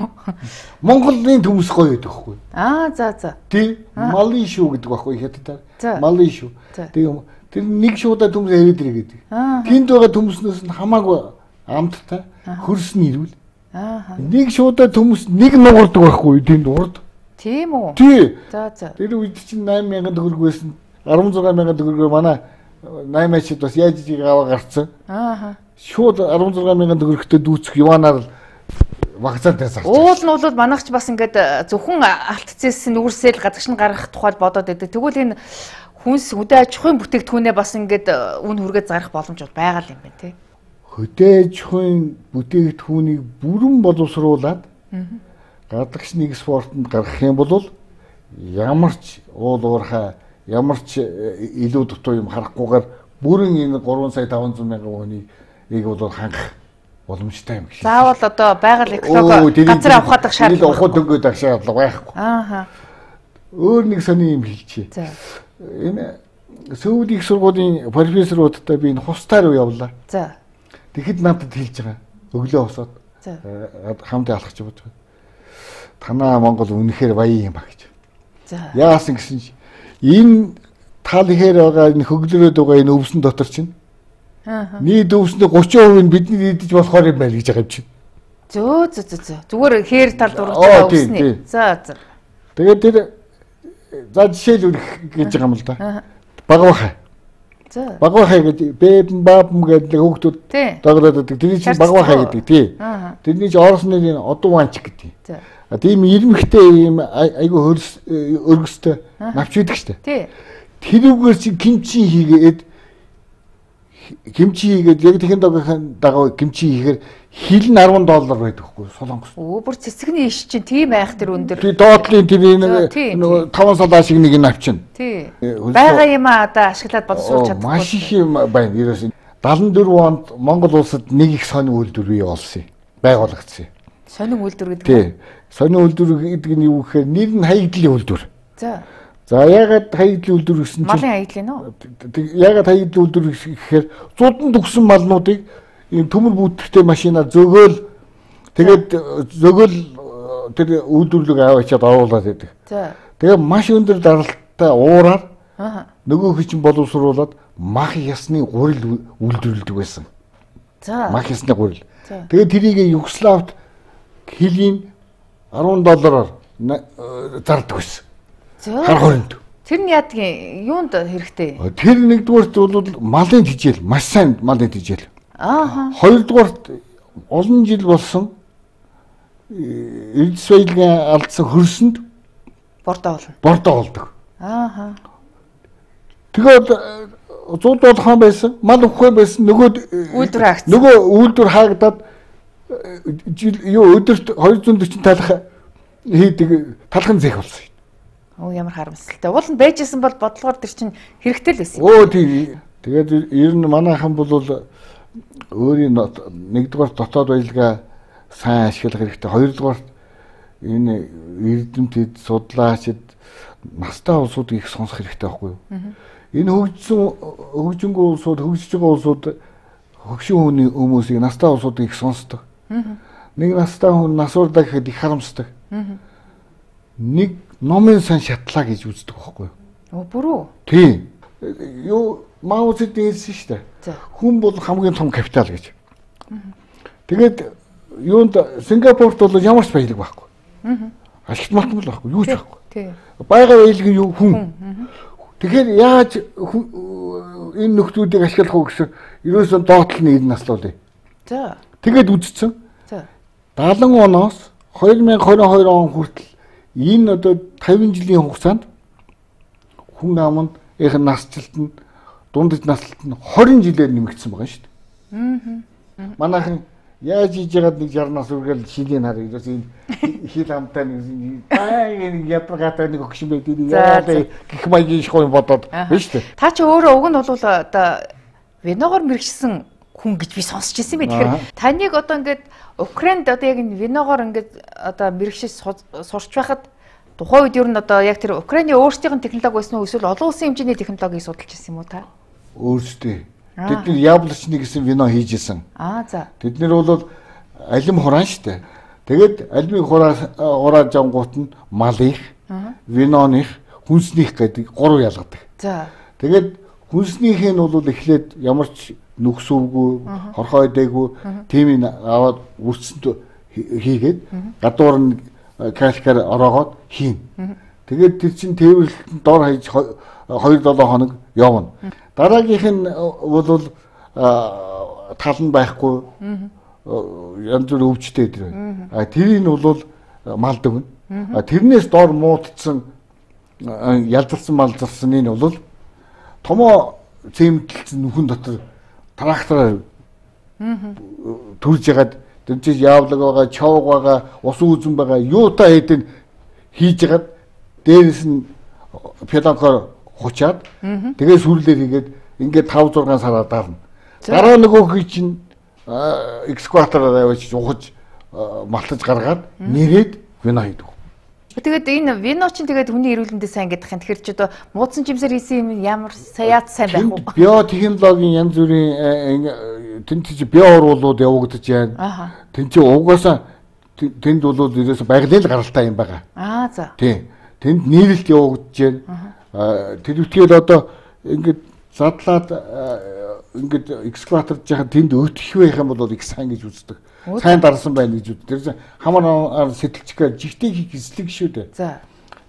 Монголын төмөс гоё гэдэг байхгүй. Аа, за за. Тий, малын шүү гэдэг байхгүй хятадаар. За. Малын шүү. Тэгээ тэр нэг шуудаа төмөс ирээд ирэх гэдэг. Тэнд байгаа төмөснөөс нь хамаагүй амттай хөрс нь ирвэл. Аа. Нэг шуудаа төмөс нэг нуурдаг байхгүй тэнд урд. Тийм үү? Тий. За за. Тэр үед чинь восемь мянган төгрөг байсан. 십육 мянган төгрөгөөр манай наймаачд бас яаж ийг аваа гарцсан. Аа. Шууд арван зургаан мянган төгрөгтэй дүүцэх Иванаар л вакцинад зарч. Уул нь бол манайхч бас ингээд зөвхөн алтцээс нүрсэл гадагш нь гаргах тухайд бодоод байдаг. Тэгвэл энэ хүнс хөдөө аж ахуйн бүтээгдэхүүнээ бас ингээд үн хүргээд зарах боломж бол байгаа юм байна тий. Хөдөө аж ахуйн бүтээгдэхүүнийг бүрэн боловсруулад гадагш нэг спортод гаргах юм бол ямар ч уул уурхай ямар ч илүү дутуу юм харахгүйгээр бүрэн энэ гурван сая таван зуун мянган хүнийг ийг бол хангах боломжтой юм шиг. Заавал одоо байгаль экологи газар авахдаг шаардлага. Ухад өнгөд ах шаардлага байхгүй. Ааха. Өөр нэг сони юм хэлчихье. За. Энэ Сөүл их сургуулийн профессоруудтай би энэ хустаар уу явлаа. За. Тэгэхэд надад хэлж байгаа. Өглөө босоод. За. Хамтаа алхаж бодож байна. Танаа Монгол үнэхээр баян юм а гэж. За. Яасан гэсэн чи энэ тал ихээр байгаа энэ хөглөрөөд байгаа энэ өвсөн дотор чинь Аа. нийт өвсний гурван хувийг бидний идэж болохоор юм байна гэж байгаа юм чинь. Зөө зөө зөө. Зүгээр хээр тал дурж байгаа өвсний. За за. Тэгээд тэр за жишээлбэл гэж байгаа юм л да. Багвахай. За. Багвахай гэдэг бэбэн баабм гэдэг хүүхдүүд доглоод байдаг. Тэр чинь багвахай гэдэг тий. Тэрний чинь оросны одуу ванч гэдэг. За. А тийм ирмэгтэй ийм айгу хөрс өргөстэй навч идэг штэ. Тий. Тэрүүгээр чи кимчи хийгээд кимчи хийгээд яг тэхэн дагахын дагав кимчи хийхээр хил нь арван доллар байдаг хгүй Солонгос. Өө бүр цэцэгний иш чинь тийм байх тэр өндөр. Тий доотлын тэр нэг таван салаа шиг нэг навчин. Тий. Бага юм а одоо ашиглаад боловсруулж чадахгүй. Маш их юм байна. Ерөөс даалан дөрвөн онд Монгол улсад нэг их сонин үйлдвэр бий болсон. Байгуулагдсан. Сонин үйлдвэр гэдэг. Тий. Сонин үйлдвэр гэдэг нь юу гэхээр нэр нь хаягдлын үйлдвэр. За. За ягаад хаягдлын үйлдвэр гэсэн чинь малын хаягдлын уу? Ягаад хаягдлын үйлдвэр гэхээр зудан төгсөн малнуудыг ийм төмөр бүтэхтэй машинаар зөгөөл тэгээд зөгөөл тэр үйлдвэрлэг аваачаад оруулаад байдаг. За. Тэгээ маш өндөр даралттай уураар нөгөө хүчин боловсруулад мах ясны гурил үйлдвэрлэдэг байсан. За. Мах ясны гурил. Тэгээд тэрийг Югославт хилийн арван доллараар зардаг байсан. Хар хоринд. Тэр нь яадгийн юунд хэрэгтэй? Тэр нэгдүгээрт бол малын тижэл, маш сайн малын тижэл. Аа. Хоёрдугаарт олон жил болсон Эрдэс баялагын алдсан хөрсөнд бордоо болно. Бордоо болдог. Аа. Тэгээд зууд болгоон байсан, мал өгөхгүй байсан нөгөө үйлдвэр хаагц. Нөгөө үйлдвэр хаагдаад юу өдөрт двести сорок талах хийдэг талхан зэх болсон. Оо ямар харамсалтай. Уул нь байжсэн бол бодлогоор тэр чинь хэрэгтэй л байсан. Оо тийм. Тэгээд ер нь манайхан бол өөрийн нэгдүгээр дотоод баялгаа сайн ашиглах хэрэгтэй. Хоёрдугаар энэ эрдэмтэд судлаачид настай улсуудыг их сонсох хэрэгтэй байхгүй юу? Энэ хөгжсөн хөгжингөө улсууд, хөгжиж байгаа улсууд хөгшин хүний хүмүүсийг настай улсуудыг их сонсдог. Нэг настай хүн насуурдаа гэхэд их харамсдаг. Нэг номын сан шатлаа гэж үздэг байхгүй юу? Оо бүрөө. Тийм. Юу Мао Цзэдун хэлсэн шүү дээ. Хүн бол хамгийн том капитал гэж. Тэгээд юунд Сингапурт бол ямар ч баялаг байхгүй. Ашигт мартмал байхгүй, юу ч байхгүй. Байгаль баялаг нь юу хүн. Тэгэхээр яаж энэ нөхдүүдийг ашиглах уу гэсэн ерөөсөө доотлол нь энэ наслуулъя. За. Тэгээд үзсэн. За. дагалан оноос две тысячи двадцать two он хүртэл энэ одоо пятьдесят жилийн хугацаанд хүн аманд их насжилт нь дундаж наслалт нь twenty жилээр нэмэгдсэн байгаа шүү дээ. Аа. Манайхан яаж хийж яагаад нэг sixty нас үргээл шилийн хараа ерөөс энэ хил амтай нэг аа нэг ядрагатай нэг өгшин байдаг яа гэх маягийн шгүй бодоод байна шүү дээ. Та чи өөрөө уг нь бол одоо виногоор мэрэгчсэн хүн гэж би сонсч ирсэн бэ. Тэгэхээр таныг одоо ингээд Украинд одоо яг энэ виногоор ингээд одоо мэрэгчээс сурч байхад тухайн үед ер нь одоо яг тэр Украины өөрсдийн технологи байсан уу эсвэл олон улсын хэмжээний технологиг судалж ирсэн юм уу та? Өөрсдөө. Тэд нар яблочны гэсэн вино хийж исэн. Аа за. Тэд нар бол алим хураан штэ. Тэгээд алимыг хураа хураа жамгуут нь малых, виноных, хүнснийх гэдэг гурав ялгадаг. За. Тэгээд хүнснийх нь бол эхлээд ямар ч нүхсүүгүй, хорхоо дээгүү тийм ин аваад үрцэнд хийгээд гадуур нь калкаар ороогоод хийн. Тэгээд тэр чин тээвэрлэлт дор хаяж two seven хоног явна. Дараагийнх нь бол тал нь байхгүй. Янз бүр өвчтэй тэр. А тэрийг бол мал дөгнө. А тэрнээс доор муудсан ялзарсан малзарсан нь бол томоо цементэлсэн нүхэн дотор трактораар төрж ягаад тэр чинь яавлаг байгаа, чавг байгаа, ус үзэн байгаа, юутай хэдэн хийж ягаад дээрээс нь педагогоор хучаад тэгээ сүрлээ хийгээд ингээд тавь зургаан сараар дарна. Дараа нөгөөх чинь экскаватороор авч ухаж малтаж гаргаад нэрэд вино хийдэг. Тэгээд энэ вино чинь тэгээд хүний эрүүл мэндэд сайн гэдэг юм. Тэгэхээр ч одоо муудсан жимсээр хийсэн юм ямар саяат сайн байх уу? Биотехнологийн янз бүрийн тэнцэж био уруулууд явагдаж байна. Тэнцээ угаасаа тэнд бол ерөөсө байгалийн л гаралтай юм байгаа. Аа за. Тийм. Тэнд нийлэлт явагдаж байна. Тэр үтгэл одоо ингээд задлаад ингээд экскаваторж яхад тэнд өтөх байх юм бол их сайн гэж үздэг. Сайн дарсан байна гэж үздэг. Тэр хамаар сэтэлчгээ жигтэй хийх эслэг шүү дээ. За.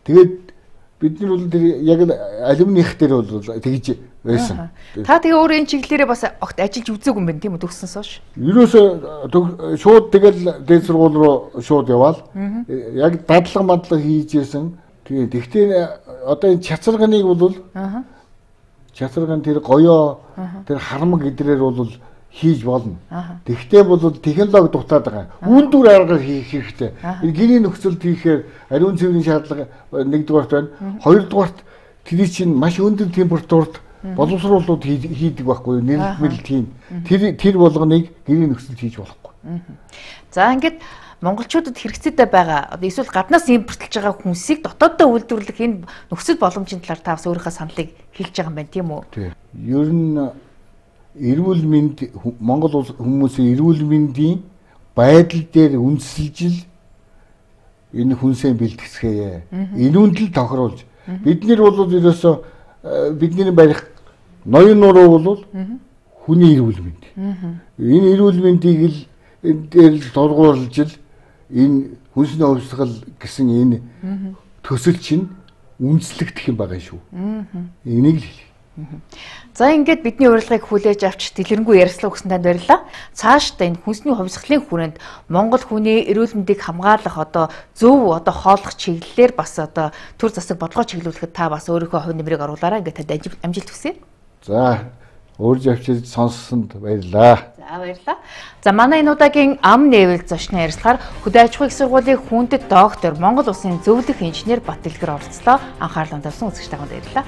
Тэгээд бид нар бол тэр яг алюминих дээр бол тэгж байсан. Та тэгээ өөр энэ чиглэлээрээ бас огт ажиллаж үзээгүй юм байна тийм үү төгссөнс хойш? Ерөөсөө шууд тэгэл дээд сургууль руу шууд яваал. Яг дадлага мадлага хийжсэн. Тэгээ тэгтээ одоо энэ чацарганыг бол чацарган тэр гоёо тэр харамг гэдрээр бол хийж болно. Тэгтээ бол технологи дутаад байгаа. Үүндүр аргаар хийх хэрэгтэй. Гэрийн нөхцөлд хийхээр ариун цэврийн шаардлага нэгдүгээрт байна. Хоёрдугаарт тэр чинь маш өндөр температурт боловсруулууд хийдэг байхгүй юу? Нэрэлт тийм. Тэр тэр болгоныг гэрийн нөхцөлд хийж болохгүй. За ингээд монголчуудад хэрэгцээтэй байгаа эсвэл гаднаас импортлж байгаа хүнсийг дотооддоо үйлдвэрлэх энэ нөхцөл боломжийн талаар та бас өөрийнхөө саналыг хэлж байгаа юм байна тийм үү? Тийм. Ер нь эрүүл мэнд Монгол хүмүүсийн эрүүл мэндийн байдал дээр үндэслэж энэ хүнсээ бэлтгэсгэе. Энүүнд л тохируулж бид нар бол ерөөсөө бидний барих ноён нуруу бол хүний эрүүл мэнд. Энэ эрүүл мэндийг л энэ дээр л дургуулж л энэ хүнсний хувьсгал гэсэн энэ төсөл чинь үндэслэгдэх юм байгаа шүү. Энийг л хэлье. За ингээд бидний урилгыг хүлээж авч дэлгэрэнгүй ярилцлага өгсөн танд баярлалаа. Цаашдаа энэ хүнсний хувьсгалын хүрээнд Монгол хүний эрүүл мэндийг хамгаалах одоо зөв одоо хооллох чиглэлээр бас одоо төр засаг бодлого чиглүүлэхэд та бас өөрийнхөө хувь нэмрийг оруулаарай. Ингээд танд амжилт хүсье. За өөрж авчиж сонссонд баярлалаа. За баярлалаа. За манай энэ удаагийн ам нээвэл зочны ярилцлагаар Хөдөө аж ахуйн их сургуулийн хүндэт доктор Монгол Улсын зөвлөх инженер Бат Дэлгэр оролцлоо. Анхаарлаа тавьсан үзэгч таганд баярлалаа.